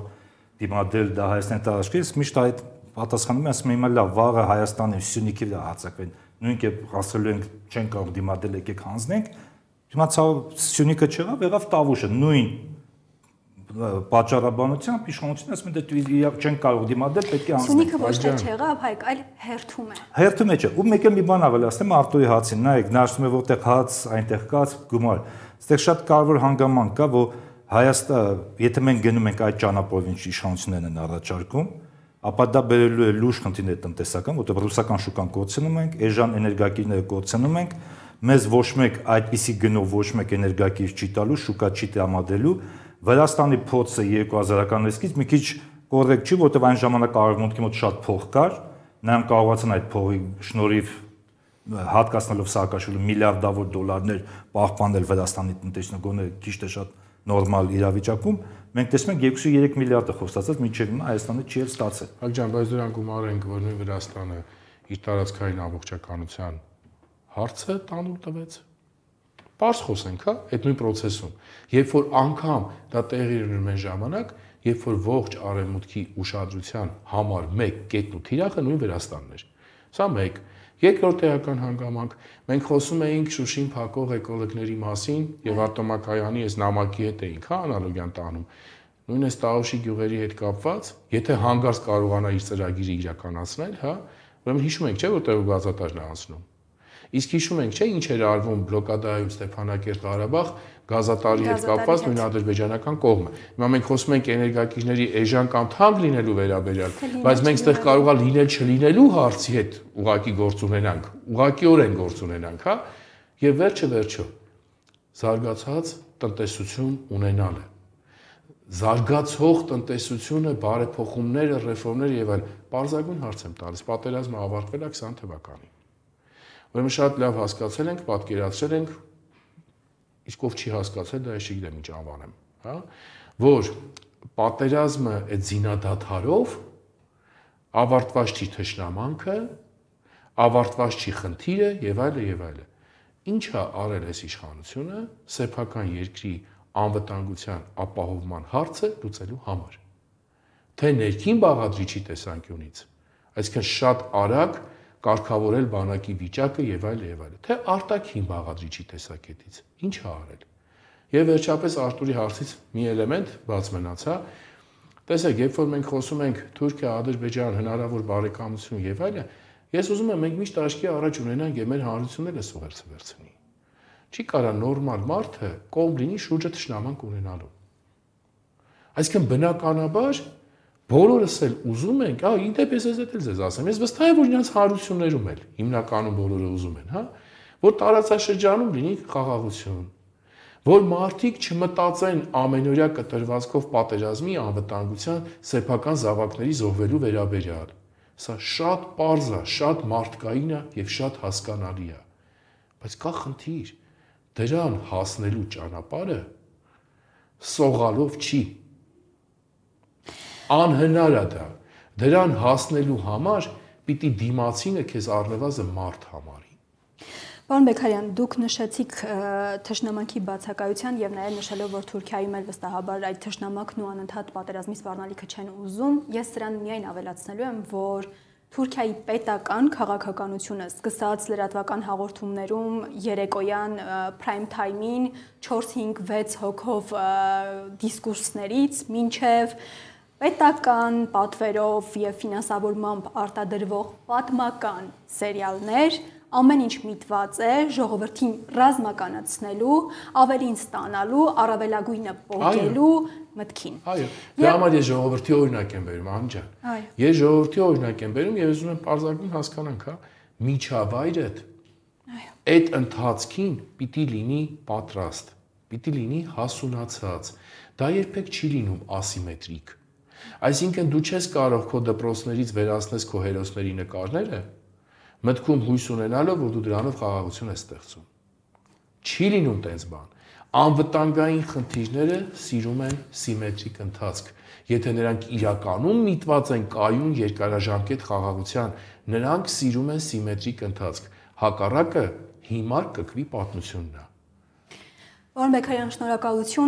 դիմադրել դա Հայաստանի տարածքից, ես միշտ այդ պատասխանում եմ, ասում եմ, հիմա լավ, վաղը Հայաստանի Սյունիքի վրա հարձակվեն, նույնք է ասելու ենք, չեն կարող դիմադրել, եկեք հանձնենք, հիմա Սյունիքը չեղավ, եղավ Տավուշը, նույն պատճառաբանությամբ իշխանությունը ասում է դե չեն կարող դիմադրել, պետք է անցնել։ Սյունիքը ոչ թե չեղավ, հայք, այլ հերթում է։ Հերթում է չէ։ Ու մեկ էլ մի բան ավելացնեմ Արտուրի հացին, նայեք, նա ասում է որտեղ հաց, այնտեղ կաց, գումար։ Այստեղ շատ կարևոր հանգամանք կա, որ Հայաստանը, եթե մենք գնում ենք այդ ճանապարհով, ինչ իշխանություններն են առաջարկում, ապա դա բերելու է լուրջ խնդիրներ տնտեսական, որտեղ ռուսական շուկան կորցնում ենք, էժան էներգակիրները կորցնում ենք, մեզ ոչ մեկ այդպիսի գնով ոչ մեկ էներգակիր չի տալու, շուկա չի տրամադրելու։ Վրաստանի փոցը 2000-ականներից մի քիչ կոռեկտ չի, որտեղ այն ժամանակ արևմուտքի մոտ շատ փող կար, նրանք կարողացան այդ փողի շնորհիվ հատկացնելով Սաակաշվիլի միլիարդավոր դոլարներ պահպանել Վրաստանի տնտեսությունը գոնե քիչ թե շատ նորմալ իրավիճակում, մենք տեսնում ենք 2-3 միլիարդը խոստացած մինչև հիմա Հայաստանը չի էլ ստացել։ Հակ ջան, բայց դրանք գումար են, որ նույն Վրաստանը իր տարածքային ամբողջականության հարցը տանուլ տվեց։ Պարզ խոսենք, հա, այդ նույն process-ում։ Երբ որ անգամ դա տեղի ունենում են ժամանակ, երբ որ ողջ արևմուտքի ուշադրության համար մեկ կետն ու թիրախը նույն Վրաստանն էր։ Սա մեկ։ Երկրորդ էական հանգամանք, մենք խոսում էինք Շուշին փակող էկոլոգների մասին եւ ատոմակայանի այս նամակի հետ էինք, հա, անալոգիան տանում։ Նույն այս Տաուշի գյուղերի հետ կապված, եթե հանգարց կարողանա իր ծրագիրը իրականացնել, հա, ուրեմն հիշում ենք, չէ՞, որ տեղը գազատարն է անցնում։ Իսկ հիշում ենք, չէ՞, ինչ էր արվում բլոկադայում Ստեփանակերտ Ղարաբաղ գազատարի հետ կապված նույն ադրբեջանական կողմը։ Հիմա մենք խոսում ենք էներգակիրների էժան կամ թանկ լինելու վերաբերյալ, բայց մենք այդտեղ կարող է լինել չլինելու հարցի հետ ուղակի գործ ունենանք, ուղղակիորեն գործ ունենանք, հա։ Եվ վերջը վերջո զարգացած տնտեսություն ունենալը։ Զարգացող տնտեսությունը, բարեփոխումները, ռեֆորմները եւ այլ բարձրագույն հարց եմ տալիս։ Պատերազմը ավարտվել է 20 թվականին։ Ուրեմն շատ լավ հասկացել ենք, պատկերացրել ենք, իսկ ով չի հասկացել, դա ես չգիտեմ ինչ անվանեմ, հա, որ պատերազմը այդ զինադադարով ավարտված չի թշնամանքը, ավարտված չի խնդիրը եւ այլը եւ այլը։ Ինչա արել այս իշխանությունը սեփական երկրի անվտանգության ապահովման հարցը լուծելու համար։ Թե ներքին բաղադրիչի տեսանկյունից, այսինքն շատ արագ կարգավորել բանակի վիճակը եւ այլը, թե արտաքին բաղադրիչի տեսակետից, ինչ է արել։ Եվ վերջապես Արտուրի հարցից մի էլեմենտ բաց մնացա։ Տեսեք, երբ որ մենք խոսում ենք Թուրքիա, Ադրբեջան, հնարավոր բարեկամություն եւ այլը, ես ուզում եմ մենք միշտ աչքի առաջ ունենանք եւ մեր հանրությունները սողերցը վերցնի։ Չի կարա նորմալ մարդը կողմ լինի շուրջը թշնամանք ունենալու։ Այսինքն բնականաբար բոլորս էլ ուզում ենք, իդեպ ես էլ ձեզ ասեմ, ես վստահ եմ, որ իրենց հարություններում էլ հիմնականում բոլորը ուզում են, հա, որ տարածաշրջանում լինի խաղաղություն, որ մարդիկ չմտածեն ամենօրյա կտրվածքով պատերազմի անվտանգության սեփական զավակների զոհվելու վերաբերյալ։ Սա շատ պարզ է, շատ մարդկային է եւ շատ հասկանալի է։ Բայց կա խնդիր, դրան հասնելու ճանապարհը սողալով չի։ Անհնար է դա։ Դրան հասնելու համար պիտի դիմացինը քեզ առնվազն մարդ համարի։ Պարոն Բեգարյան, դուք նշեցիք թշնամանքի բացակայության եւ նաեւ նշելով, որ Թուրքիայում էլ վստահաբար այդ թշնամանքն ու անընդհատ պատերազմի սպառնալիքը չեն ուզում, ես սրան միայն ավելացնելու եմ, որ Թուրքիայի պետական քաղաքականությունը սկսած լրատվական հաղորդումներում երեկոյան prime time-ին 4-5-6 հոգով դիսկուրսներից մինչև պետական պատվերով եւ ֆինանսավորմամբ արտադրվող պատմական սերիալներ ամեն ինչ միտված է ժողովրդին ռազմականացնելու, ավելին ստանալու, առավելագույնը պոկելու մտքին։ Այո, դրա համար ես ժողովրդի օրինակ եմ բերում, Անջան։ Ես ժողովրդի օրինակ եմ բերում եւ ուզում եմ պարզակում հասկանանք, հա, միջավայրդ այդ ընթացքին պիտի լինի պատրաստ, պիտի լինի հասունացած։ Դա երբեք չի լինում ասիմետրիկ։ Այսինքն դու չես կարող քո դպրոցներից վերացնես քո հերոսների նկարները, մտքում հույս ունենալով, որ դու դրանով խաղաղություն ես ստեղծում։ Չի լինում տենց բան։ Անվտանգային խնդիրները սիրում են սիմետրիկ ընթացք։ Եթե նրանք իրականում միտված են կայուն երկարաժամկետ խաղաղության, նրանք սիրում են սիմետրիկ ընթացք։ Հակառակը հիմար կկվի պատմությունն է։ Պարոն Բեգարյան, շնորհակալություն։